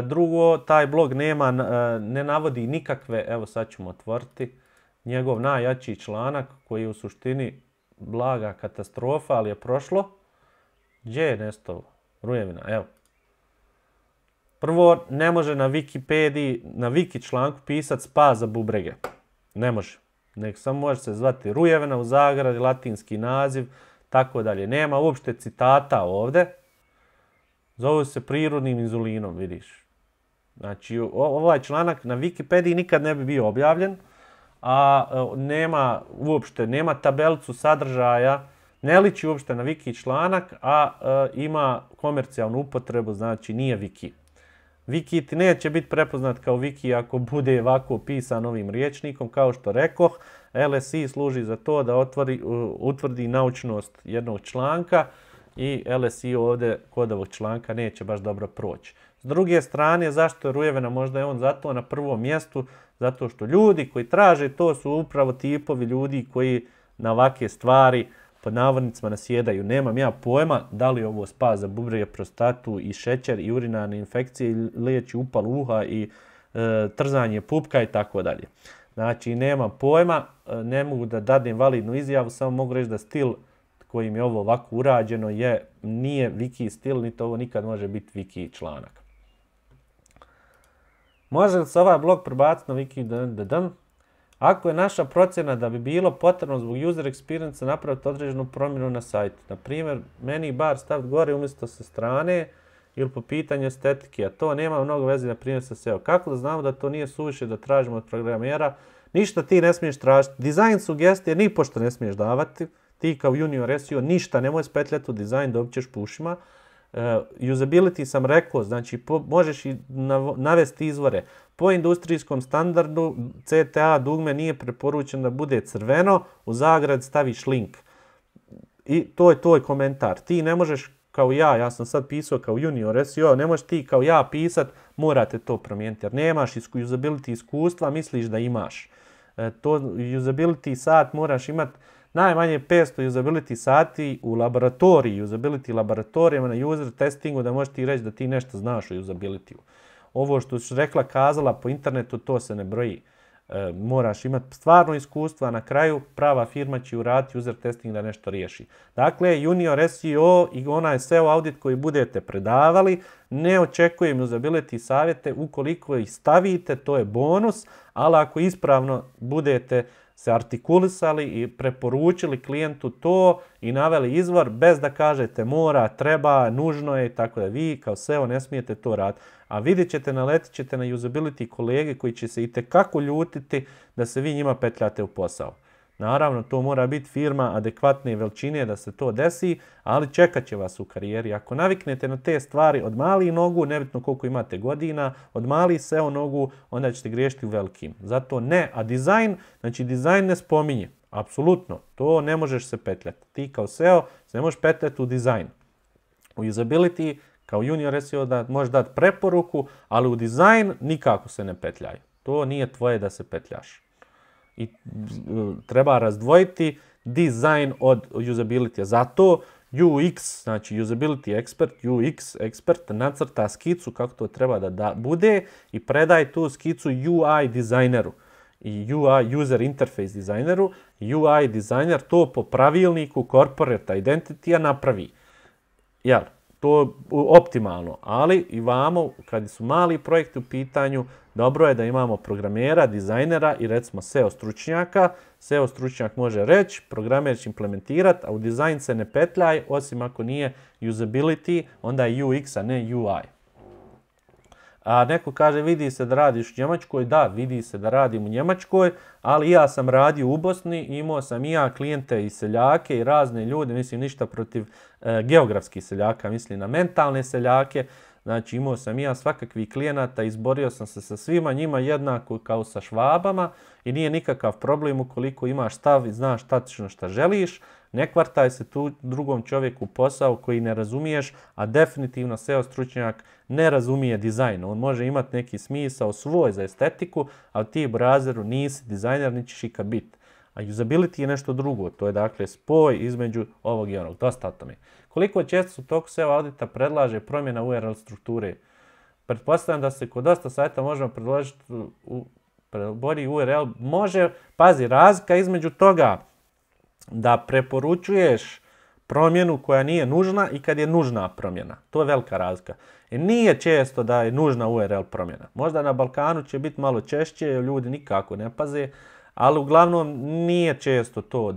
Drugo, taj blog ne navodi nikakve, evo sad ćemo otvoriti, njegov najjači članak koji je u suštini blaga katastrofa, ali je prošlo. Gdje je nestao? Rujevina, evo. Prvo, ne može na Wikipediji, na wiki članku pisati spas za bubrege. Ne može. Nek samo može se zvati Rujevina u zagradi, latinski naziv, tako dalje. Nema uopšte citata ovdje. Zove se prirodnim inzulinom, vidiš. Znači, ovaj članak na Wikipediji nikad ne bi bio objavljen, a nema uopšte, nema tabelicu sadržaja, ne liči uopšte na wiki članak, a ima komercijalnu upotrebu, znači nije wiki. Wiki ti neće biti prepoznat kao wiki ako bude ovako pisan ovim rječnikom, kao što rekoh. LSI služi za to da utvrdi naučnost jednog članka i LSI ovdje kod ovog članka neće baš dobro proći. S druge strane, zašto je Rujevina? Možda je on zato na prvom mjestu, zato što ljudi koji traže to su upravo tipovi ljudi koji na ovakve stvari pod navodnicima nasjedaju. Nemam ja pojma da li ovo spas za bubrege, prostatu i šećer i urinarne infekcije, liječi upal uha i trzanje pupka i tako dalje. Znači, nemam pojma, ne mogu da dadem validnu izjavu, samo mogu reći da stil kojim je ovo ovako urađeno nije wiki stil, niti ovo nikad može biti wiki članak. Može li se ovaj blok prebaciti na Wiki? Ako je naša procjena da bi bilo potrebno zbog user experience napraviti određenu promjenu na sajtu, na primjer, meni bar staviti gore umjesto sa strane ili po pitanju estetike, a to nema mnogo veze na primjer sa SEO. Kako da znamo da to nije suviše da tražimo od programera? Ništa ti ne smiješ tražiti. Dizajn sugestije ni pošto ne smiješ davati. Ti kao junior SEO ništa nemoj spetljati u dizajn, dobit ćeš po ušima. Usability sam rekao, znači možeš i navesti izvore. Po industrijskom standardu CTA dugme nije preporučeno da bude crveno, u zagrad staviš link. I to je tvoj komentar. Ti ne možeš kao ja sam sad pisao kao junior SEO, ne možeš ti kao ja pisat, morate to promijeniti jer nemaš usability iskustva, misliš da imaš. To usability sat moraš imati najmanje 500 usability sati u laboratoriji, usability laboratorijama na user testingu da možeš ti reći da ti nešto znaš o usability-u. Ovo što si rekla, kazala po internetu, to se ne broji. Moraš imati stvarno iskustva, na kraju prava firma će uraditi user testing da nešto riješi. Dakle, junior SEO i onaj SEO audit koji budete predavali, ne očekujem usability savjete, ukoliko ih stavite, to je bonus, ali ako ispravno budete se artikulisali i preporučili klijentu to i naveli izvor bez da kažete mora, treba, nužno je, tako da vi kao SEO ne smijete to raditi. A vidjet ćete, naletit ćete na usability kolege koji će se itekako ljutiti da se vi njima petljate u posao. Naravno, to mora biti firma adekvatne veličine da se to desi, ali čekat će vas u karijeri. Ako naviknete na te stvari od malih nogu, nebitno koliko imate godina, od malih SEO nogu, onda ćete griješiti u velikim. Zato ne, a dizajn, znači dizajn ne spominje. Apsolutno, to ne možeš se petljati. Ti kao SEO se ne možeš petljati u dizajn. U usability, kao junior SEO da možeš dati preporuku, ali u dizajn nikako se ne petljaj. To nije tvoje da se petljaš. I treba razdvojiti dizajn od usability. Zato UX, znači usability expert, UX expert nacrta skicu kako to treba da bude i predaj tu skicu UI dizajneru i UI user interface dizajneru. UI dizajner to po pravilniku corporate identity-a napravi. Jel? To je optimalno, ali i vamo, kad su mali projekti u pitanju, dobro je da imamo programera, dizajnera i recimo SEO stručnjaka. SEO stručnjak može reći, programer će implementirati, a u dizajn se ne petljaj, osim ako nije usability, onda je UX, a ne UI. A neko kaže, vidi se da radiš u Njemačkoj. Da, vidi se da radim u Njemačkoj, ali ja sam radio u Bosni, imao sam i ja klijente i seljake i razne ljude, mislim ništa protiv geografskih seljaka, mislim na mentalne seljake. Znači imao sam i ja svakakvih klijenata, izborio sam se sa svima njima jednako kao sa Švabama i nije nikakav problem ukoliko imaš stav i znaš tačno šta želiš. Ne kvartaj se tu drugom čovjeku posao koji ne razumiješ, a definitivno SEO stručnjak ne razumije dizajn. On može imati neki smisao svoj za estetiku, ali ti brazeru nisi dizajner, ni ćeš ikad biti. A usability je nešto drugo, to je dakle spoj između ovog i onog. Dosta o tome. Koliko često u toku SEO audita predlaže promjena URL strukture? Pretpostavljam da se kod dosta sajta možemo predložiti bolji URL. Može, pazi, razlika između toga da preporučuješ promjenu koja nije nužna i kad je nužna promjena. To je velika razlika. I nije često da je nužna URL promjena. Možda na Balkanu će biti malo češće, ljudi nikako ne paze, ali uglavnom nije često to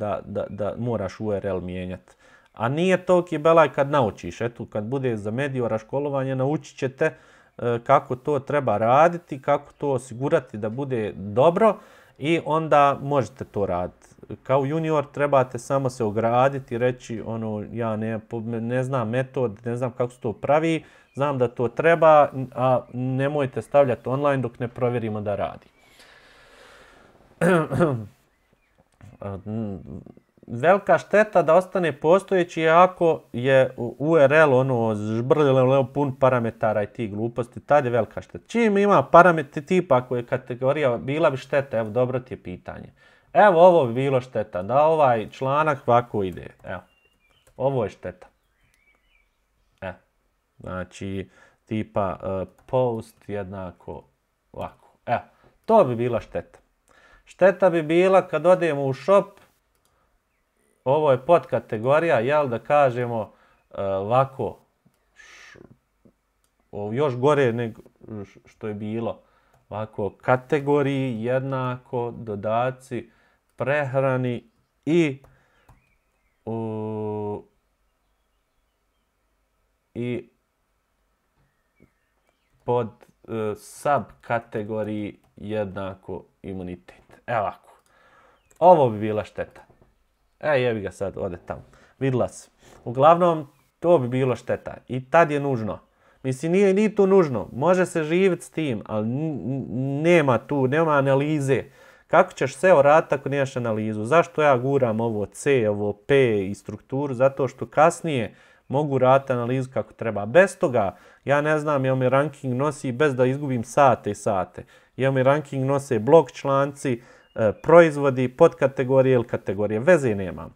da moraš URL mijenjati. A nije toliki belaj kad naučiš. Eto, kad bude za mediora školovanje, naučit ćete kako to treba raditi, kako to osigurati da bude dobro i onda možete to raditi. Kao junior trebate samo se ograditi i reći ja ne znam metod, ne znam kako se to pravi, znam da to treba, a nemojte stavljati online dok ne provjerimo da radi. Velika šteta da ostane postojeći ako je URL žbrljeno pun parametara i tih gluposti, tad je velika šteta. Čim ima parametri tipa ako je kategorija, bila bi šteta, evo dobro ti je pitanje. Evo ovo bi bilo šteta, da ovaj članak ovako ide, evo, ovo je šteta. Znači tipa post jednako ovako, evo, to bi bila šteta. Šteta bi bila kad odemo u shop, ovo je podkategorija, jel da kažemo ovako, još gore nego što je bilo, ovako, kategoriji jednako dodaci prehrani i pod subkategoriji jednako imunitet. Evo ovako. Ovo bi bila šteta. Jebi ga sad, ode tamo. Vidla se. Uglavnom, to bi bilo šteta. I tad je nužno. Mislim, nije to nužno. Može se živjeti s tim, ali nema analize. Kako ćeš SEO raditi ako nemaš analizu? Zašto ja guram ovo C, ovo P i strukturu? Zato što kasnije mogu raditi analizu kako treba. Bez toga, ja ne znam, jel mi ranking nosi bez da izgubim sate i sate. Jel mi ranking nose blog članci, proizvodi, podkategorije ili kategorije. Veze nemam.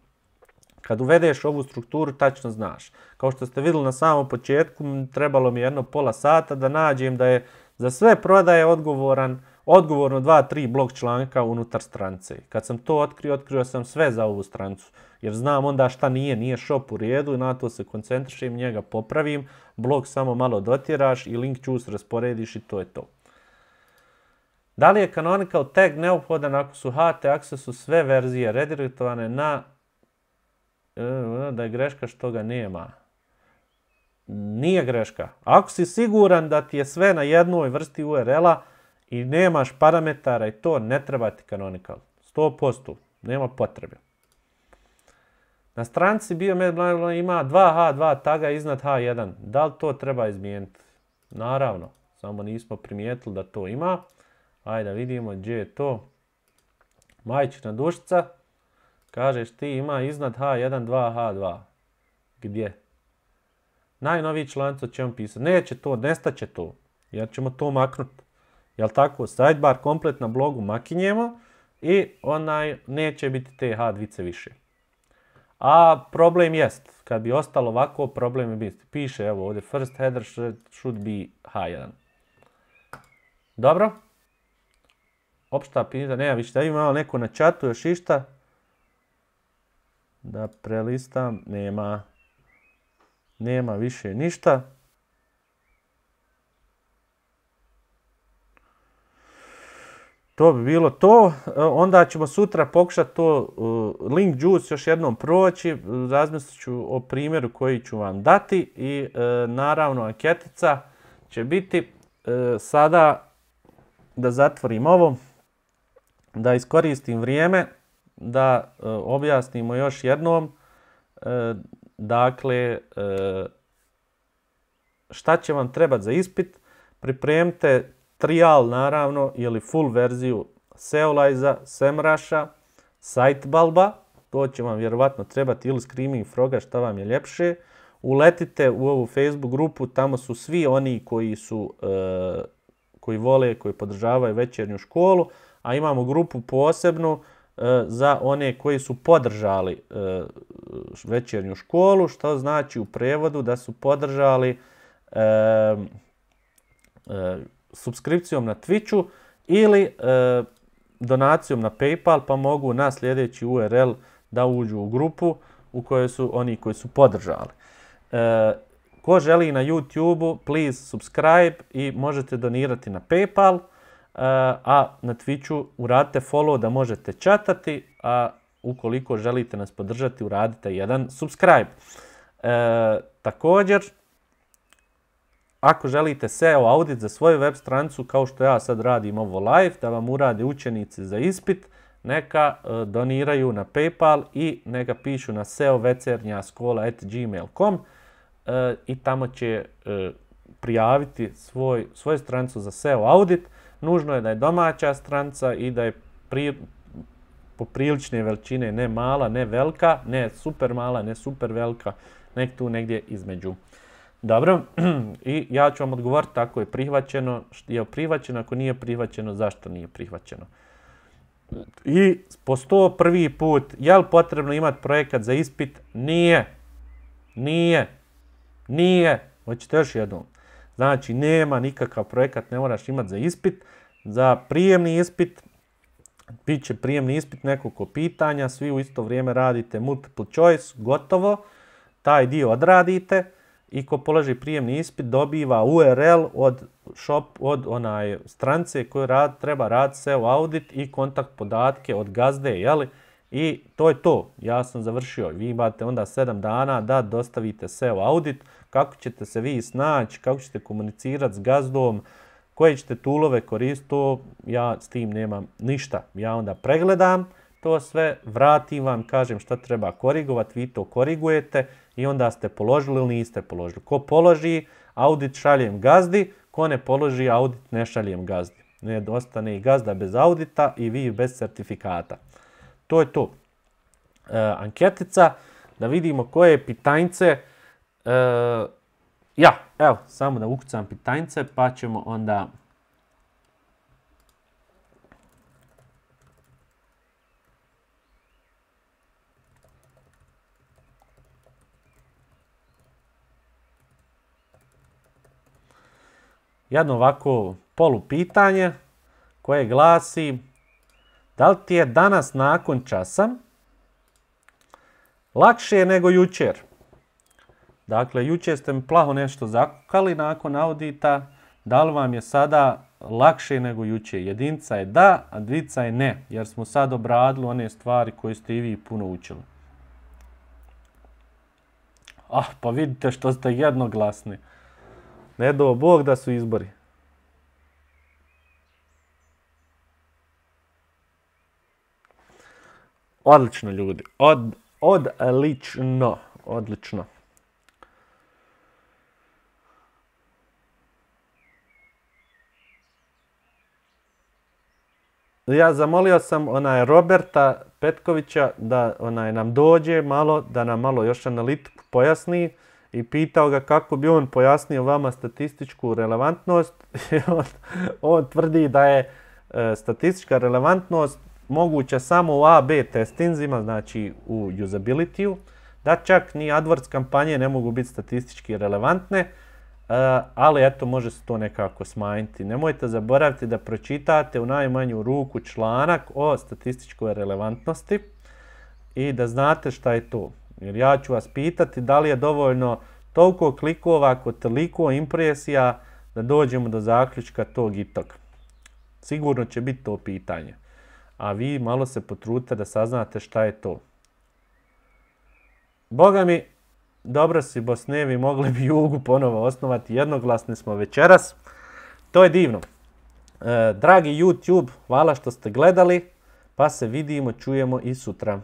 Kad uvedeš ovu strukturu, tačno znaš. Kao što ste vidjeli na samom početku, trebalo mi jedno pola sata da nađem da je za sve prodaje odgovorno 2-3 blog članka unutar stranice. Kad sam to otkrio sam sve za ovu stranicu. Jer znam onda šta nije shop u redu i na to se koncentrišem, njega popravim, blog samo malo dotjeraš i link juice rasporediš i to je to. Da li je canonical tag neophodan ako su HT Accessu sve verzije redirektovane na da je greška što ga nema? Nije greška. Ako si siguran da ti je sve na jednoj vrsti URL-a i nemaš parametara i to, ne treba ti canonical. 100%. Nema potrebe. Na stranici Biomed ima 2H2 taga iznad H1. Da li to treba izmijeniti? Naravno. Samo nismo primijetili da to ima. Ajde da vidimo gdje je to. Majčina dušica. Kažeš ti ima iznad H1 2H2. Gdje? Najnoviji članci ćemo pisati. Neće to, nestaće to. Jer ćemo to maknuti. Jel tako? Sidebar komplet na blogu makinjemo i neće biti te H2 više. A problem jest. Kad bi ostalo ovako, problem je biti. Piše evo ovdje first header should be H1. Dobro. Opšta pitanja. Nema više. Da imamo neko na chatu još išta. Da prelistam. Nema više ništa. To bi bilo to. Onda ćemo sutra pokušati to link juice još jednom proći. Razmislit ću o primjeru koji ću vam dati i naravno anketica će biti sada da zatvorim ovo, da iskoristim vrijeme, da objasnimo još jednom. Dakle, šta će vam trebati za ispit? Pripremite trial naravno ili full verziju Seolize-a, Semrush-a, Sitebulba, to će vam vjerovatno trebati ili Screaming Froga, šta vam je ljepše. Uletite u ovu Facebook grupu, tamo su svi oni koji vole, koji podržavaju večernju školu, a imamo grupu posebnu za one koji su podržali večernju školu, što znači u prevodu da su podržali subskripcijom na Twitchu ili donacijom na PayPal, pa mogu na sljedeći URL da uđu u grupu u kojoj su oni koji su podržali. Ko želi na YouTube-u, please subscribe i možete donirati na PayPal, a na Twitchu uradite follow da možete chatati, a ukoliko želite nas podržati, uradite jedan subscribe. Također, ako želite SEO audit za svoju web stranicu, kao što ja sad radim ovo live, da vam urade učenici za ispit, neka doniraju na PayPal i neka pišu na seovecernjaskola@gmail.com i tamo će prijaviti svoju stranicu za SEO audit. Nužno je da je domaća stranica i da je poprilične veličine, ne mala, ne velika, ne super mala, ne super velika, nek tu negdje između. Dobro, i ja ću vam odgovoriti ako je prihvaćeno, ako nije prihvaćeno, zašto nije prihvaćeno. I po 101. put, je li potrebno imati projekat za ispit? Nije. Hoćete još jednom. Znači, nema nikakav projekat, ne moraš imati za ispit. Za prijemni ispit, bit će prijemni ispit, nekoliko pitanja, svi u isto vrijeme radite multiple choice, gotovo. Taj dio odradite i ko položi prijemni ispit dobiva URL od stranice koju treba raditi SEO audit i kontakt podatke od gazde, jeli? I to je to. Ja sam završio. Vi imate onda 7 dana da dostavite SEO audit. Kako ćete se vi snaći, kako ćete komunicirati s gazdom, koje ćete toolove koristiti, ja s tim nemam ništa. Ja onda pregledam to sve, vratim vam, kažem šta treba korigovati, vi to korigujete i onda ste položili ili niste položili. Ko položi, audit šaljem gazdi, ko ne položi, audit ne šaljem gazdi. Ne ostane i gazda bez audita i vi bez certifikata. To je to. Anketica, da vidimo koje pitanjce. Evo, samo da ukucam pitanjce pa ćemo onda... Jedno ovako polupitanje koje glasi: da li ti je danas nakon časa lakše nego jučer? Dakle, jučer ste mi plaho nešto zakukali nakon audita. Da li vam je sada lakše nego jučer? Jedinca je da, a dvica je ne, jer smo sad obradili one stvari koje ste i vi puno učili. Pa vidite što ste jednoglasni. Ne do Bog da su izbori. Odlično, ljudi. Odlično. Ja zamolio sam Roberta Petkovića da nam dođe malo, da nam malo još analitiku pojasni i pitao ga kako bi on pojasnio vama statističku relevantnost. On tvrdi da je statistička relevantnost moguća samo u A/B testinzima, znači u usability-u, da čak ni AdWords kampanje ne mogu biti statistički relevantne, ali eto, može se to nekako smanjiti. Nemojte zaboraviti da pročitate u najmanju ruku članak o statističkoj relevantnosti i da znate šta je to. Jer ja ću vas pitati da li je dovoljno toliko klikova kod toliko impresija da dođemo do zaključka tog i tog. Sigurno će biti to pitanje. A vi malo se potrudite da saznate šta je to. Boga mi, dobro si Bosnevi, mogli bi Jugu ponovo osnovati, jednoglasni smo večeras. To je divno. Dragi YouTube, hvala što ste gledali, pa se vidimo, čujemo i sutra.